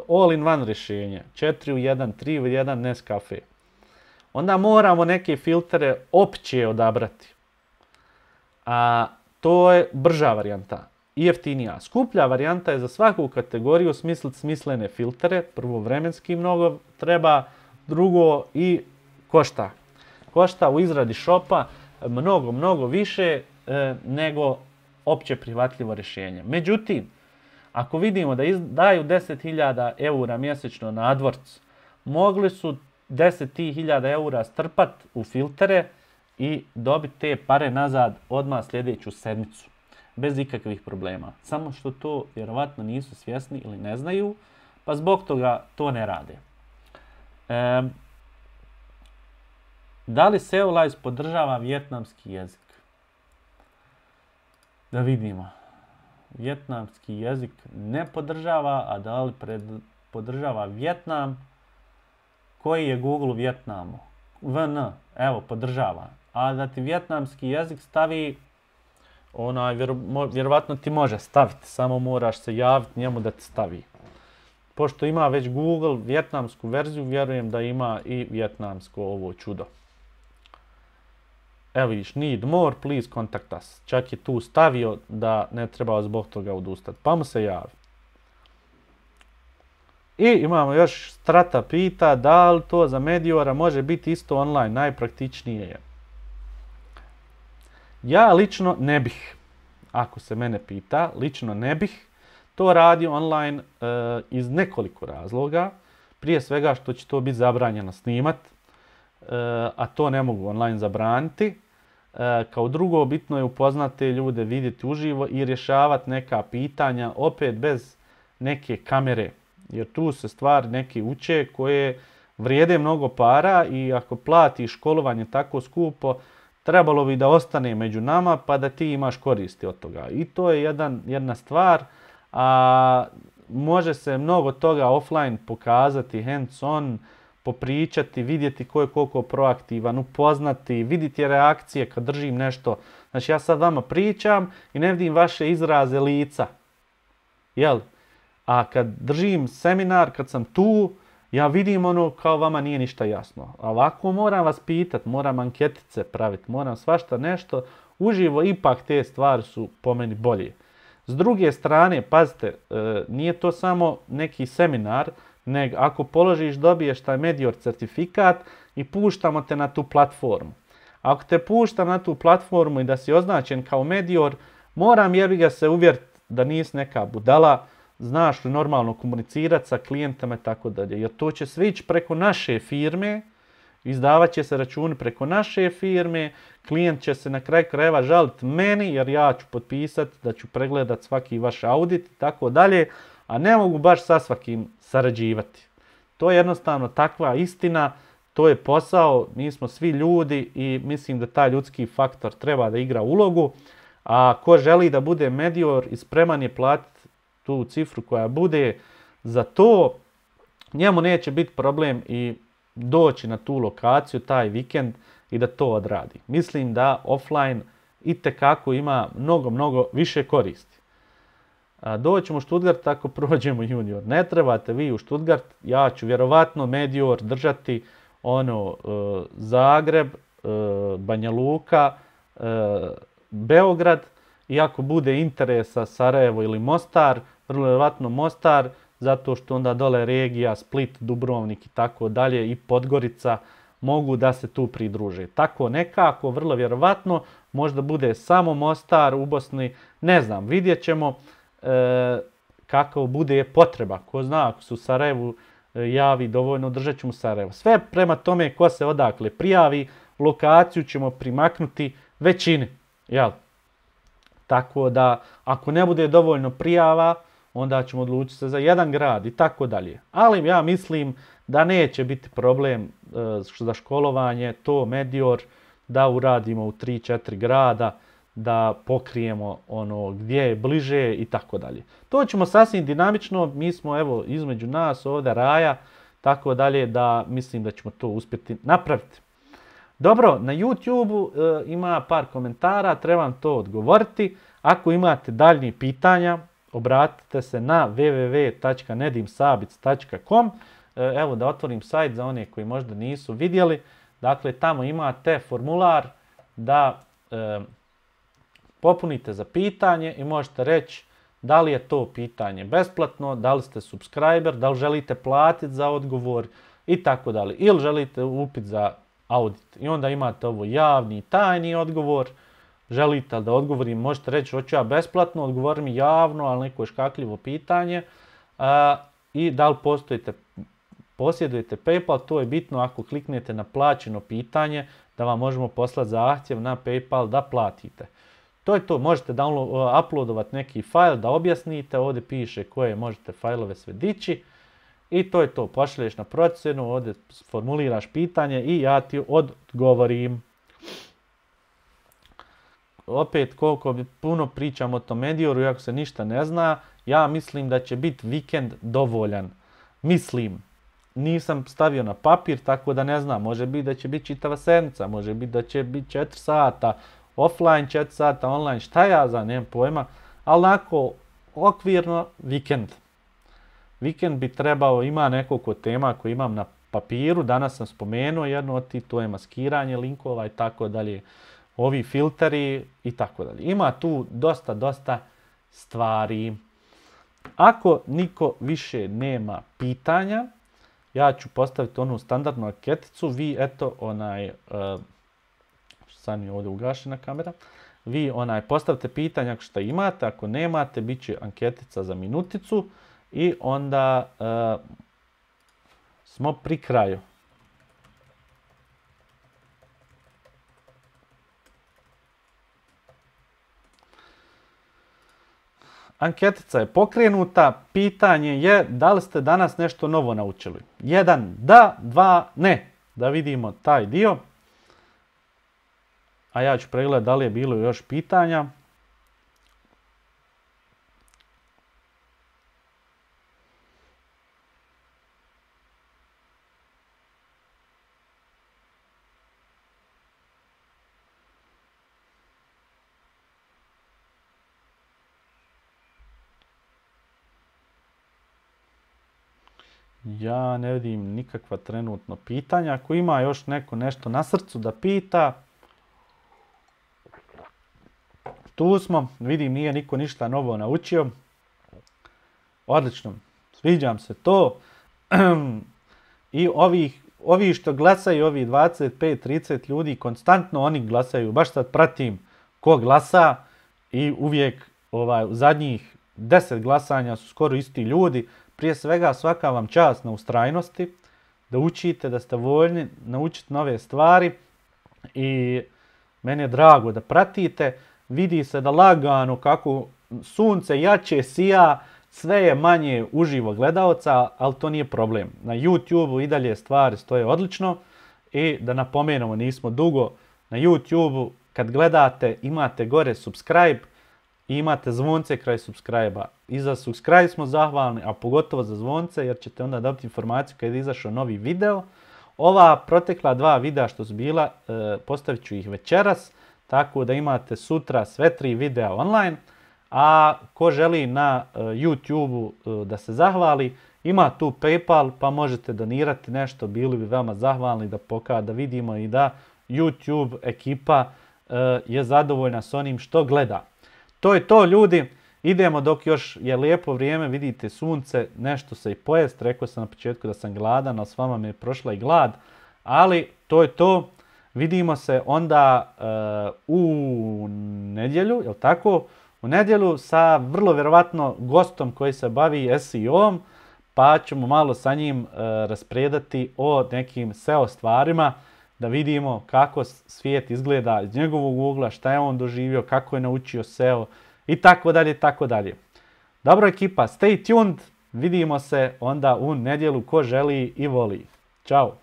Speaker 1: all-in-one rješenje, 4 u 1, 3 u 1 Nescafe, onda moramo neke filtere opće odabrati. A to je brža varijanta i jeftinija. Skuplja varijanta je za svaku kategoriju smisliti smislene filtere. Prvo, vremenski mnogo treba, drugo i košta. Košta u izradi shopa mnogo više nego opće prihvatljivo rješenje. Međutim, ako vidimo da daju 10.000 eura mjesečno na AdWords, mogli su 10.000 eura strpat u filtere i dobiti te pare nazad odmah sljedeću sedmicu. Bez ikakvih problema. Samo što to vjerovatno nisu svjesni ili ne znaju, pa zbog toga to ne rade. Da li Seolize podržava vijetnamski jezik? Da vidimo. Vijetnamski jezik ne podržava, a da li podržava Vijetnam? Koji je Google u Vijetnamu? VN, evo, podržava. A da ti vijetnamski jezik stavi, vjerovatno ti može staviti, samo moraš se javiti njemu da ti stavi. Pošto ima već Google vijetnamsku verziju, vjerujem da ima i vijetnamsko ovo čudo. Evo vidiš, need more, please contact us. Čak je tu stavio da ne treba zbog toga odustati, pa mu se javi. I imamo još Strata pita da li to za Mediora može biti isto online, najpraktičnije je. Ja lično ne bih, ako se mene pita, lično ne bih to radio online iz nekoliko razloga. Prije svega što će to biti zabranjeno snimat, a to ne mogu online zabraniti. Kao drugo, bitno je upoznati ljude, vidjeti uživo i rješavati neka pitanja, opet bez neke kamere. Jer tu se stvari neke uče koje vrijede mnogo para i ako platiš školovanje tako skupo, trebalo bi da ostane među nama pa da ti imaš koristi od toga. I to je jedna stvar, a može se mnogo toga offline pokazati, hands on, popričati, vidjeti ko je koliko proaktivan, upoznati, vidjeti reakcije kad držim nešto. Znači ja sad vama pričam i ne vidim vaše izraze lica. Jel? A kad držim seminar, kad sam tu, ja vidim ono kao vama nije ništa jasno. A ovako moram vas pitat, moram anketice praviti, moram svašta nešto. Uživo ipak te stvari su po meni bolje. S druge strane, pazite, nije to samo neki seminar, nego ako položiš dobiješ taj Medior certifikat i puštamo te na tu platformu. Ako te puštam na tu platformu i da si označen kao Medior, moram jebi ga se uvjeriti da nisi neka budala, znaš li normalno komunicirati sa klijentima i tako dalje. Jer to će sve ići preko naše firme, izdavat će se računi preko naše firme, klijent će se na kraju krajeva žaliti meni jer ja ću potpisati da ću pregledati svaki vaš audit i tako dalje, a ne mogu baš sa svakim sarađivati. To je jednostavno takva istina, to je posao, mi smo svi ljudi i mislim da taj ljudski faktor treba da igra ulogu, a ko želi da bude Medior i spreman je platiti tu cifru koja bude za to, njemu neće biti problem i doći na tu lokaciju taj vikend i da to odradi. Mislim da offline itekako ima mnogo više koristi. Doćemo u Stuttgart ako prođemo junior. Ne trebate vi u Stuttgart, ja ću vjerovatno Medior držati Zagreb, Banja Luka, Beograd, i ako bude interesa Sarajevo ili Mostar, vrlo vjerovatno Mostar, zato što onda dole regija Split, Dubrovnik i tako dalje i Podgorica mogu da se tu pridruže. Tako nekako, vrlo vjerovatno, možda bude samo Mostar u Bosni, ne znam, vidjet ćemo kako bude potreba. Ko zna, ako se u Sarajevu javi dovoljno, držat ćemo Sarajevo. Sve prema tome ko se odakle prijavi, lokaciju ćemo primaknuti većini. Jel? Tako da, ako ne bude dovoljno prijava, onda ćemo odlučiti se za jedan grad i tako dalje. Ali ja mislim da neće biti problem za školovanje, to Medior, da uradimo u 3-4 grada, da pokrijemo gdje je bliže i tako dalje. To ćemo sasvim dinamično, mi smo evo između nas ovdje raja, tako dalje, da mislim da ćemo to uspjeti napraviti. Dobro, na YouTube ima par komentara, trebam to odgovoriti. Ako imate daljnjih pitanja, obratite se na www.nedimsabic.com. Evo da otvorim sajt za one koji možda nisu vidjeli. Dakle, tamo imate formular da popunite za pitanje i možete reći da li je to pitanje besplatno, da li ste subscriber, da li želite platiti za odgovor i tako dalje. Ili želite upit za audit. I onda imate ovo javni i tajni odgovor. Želite da odgovorim, možete reći hoću ja besplatno, odgovori mi javno, ali neko je škakljivo pitanje. I da li posjedujete PayPal, to je bitno ako kliknete na plaćeno pitanje, da vam možemo poslati zahtjev na PayPal da platite. To je to, možete uploadovati neki fajl da objasnite, ovdje piše koje možete fajlove sve dići. I to je to, pošalješ na procjenu, ovdje formuliraš pitanje i ja ti odgovorim. Opet, koliko puno pričam o tom Medioru, iako se ništa ne zna, ja mislim da će biti vikend dovoljan. Mislim, nisam stavio na papir, tako da ne znam, može biti da će biti čitava sedmica, može biti da će biti 4 sata, offline 4 sata, online, šta ja znam, nemam pojma, ali onako, okvirno, vikend. Vikend bi trebao, ima nekoliko tema koje imam na papiru, danas sam spomenuo jednu od tih, to je maskiranje linkova i tako dalje, ovi filteri i tako dalje. Ima tu dosta stvari. Ako niko više nema pitanja, ja ću postaviti onu standardnu anketicu, vi eto sad mi je ovdje ugašena kamera, vi postavite pitanja ako što imate, ako nemate, bit će anketica za minuticu i onda smo pri kraju. Anketica je pokrenuta, pitanje je da li ste danas nešto novo naučili. 1 da, 2 ne. Da vidimo taj dio. A ja ću pregledati da li je bilo još pitanja. Ja ne vidim nikakva trenutno pitanja. Ako ima još neko nešto na srcu da pita, tu smo. Vidim nije niko ništa novo naučio. Odlično. Sviđam se to. I ovi što glasaju, ovi 25-30 ljudi, konstantno oni glasaju. Baš sad pratim ko glasa i uvijek u zadnjih 10 glasanja su skoro isti ljudi. Prije svega svaka vam čast na ustrajnosti, da učite, da ste voljni naučiti nove stvari i meni je drago da pratite. Vidi se da lagano kako sunce jače sija, sve je manje uživo gledaoca, ali to nije problem. Na YouTube-u i dalje stvari stoje odlično i da napomenemo, nismo dugo na YouTube-u, kad gledate imate gore subscribe i imate zvonce kraj subscribe-a. I za subscribe smo zahvalni, a pogotovo za zvonce jer ćete onda dobiti informaciju kad je izašao novi video. Ova protekla 2 videa što su bila, postavit ću ih večeras, tako da imate sutra sve 3 videa online. A ko želi na YouTube-u da se zahvali, Ima tu PayPal pa možete donirati nešto, bili bi veoma zahvalni da vidimo i da YouTube ekipa je zadovoljna s onim što gleda. To je to ljudi, idemo dok još je lijepo vrijeme, vidite sunce, nešto se i pojest, rekao sam na početku da sam gladan, ali s vama mi je prošla i glad, ali to je to. Vidimo se onda u nedjelju, jel tako? U nedjelju sa vrlo vjerovatno gostom koji se bavi SEO-om, pa ćemo malo sa njim raspredati o nekim SEO stvarima, da vidimo kako svijet izgleda iz njegovog ugla, šta je on doživio, kako je naučio SEO i tako dalje, tako dalje. Dobro ekipa, stay tuned, vidimo se onda u nedjelu ko želi i voli. Ćao!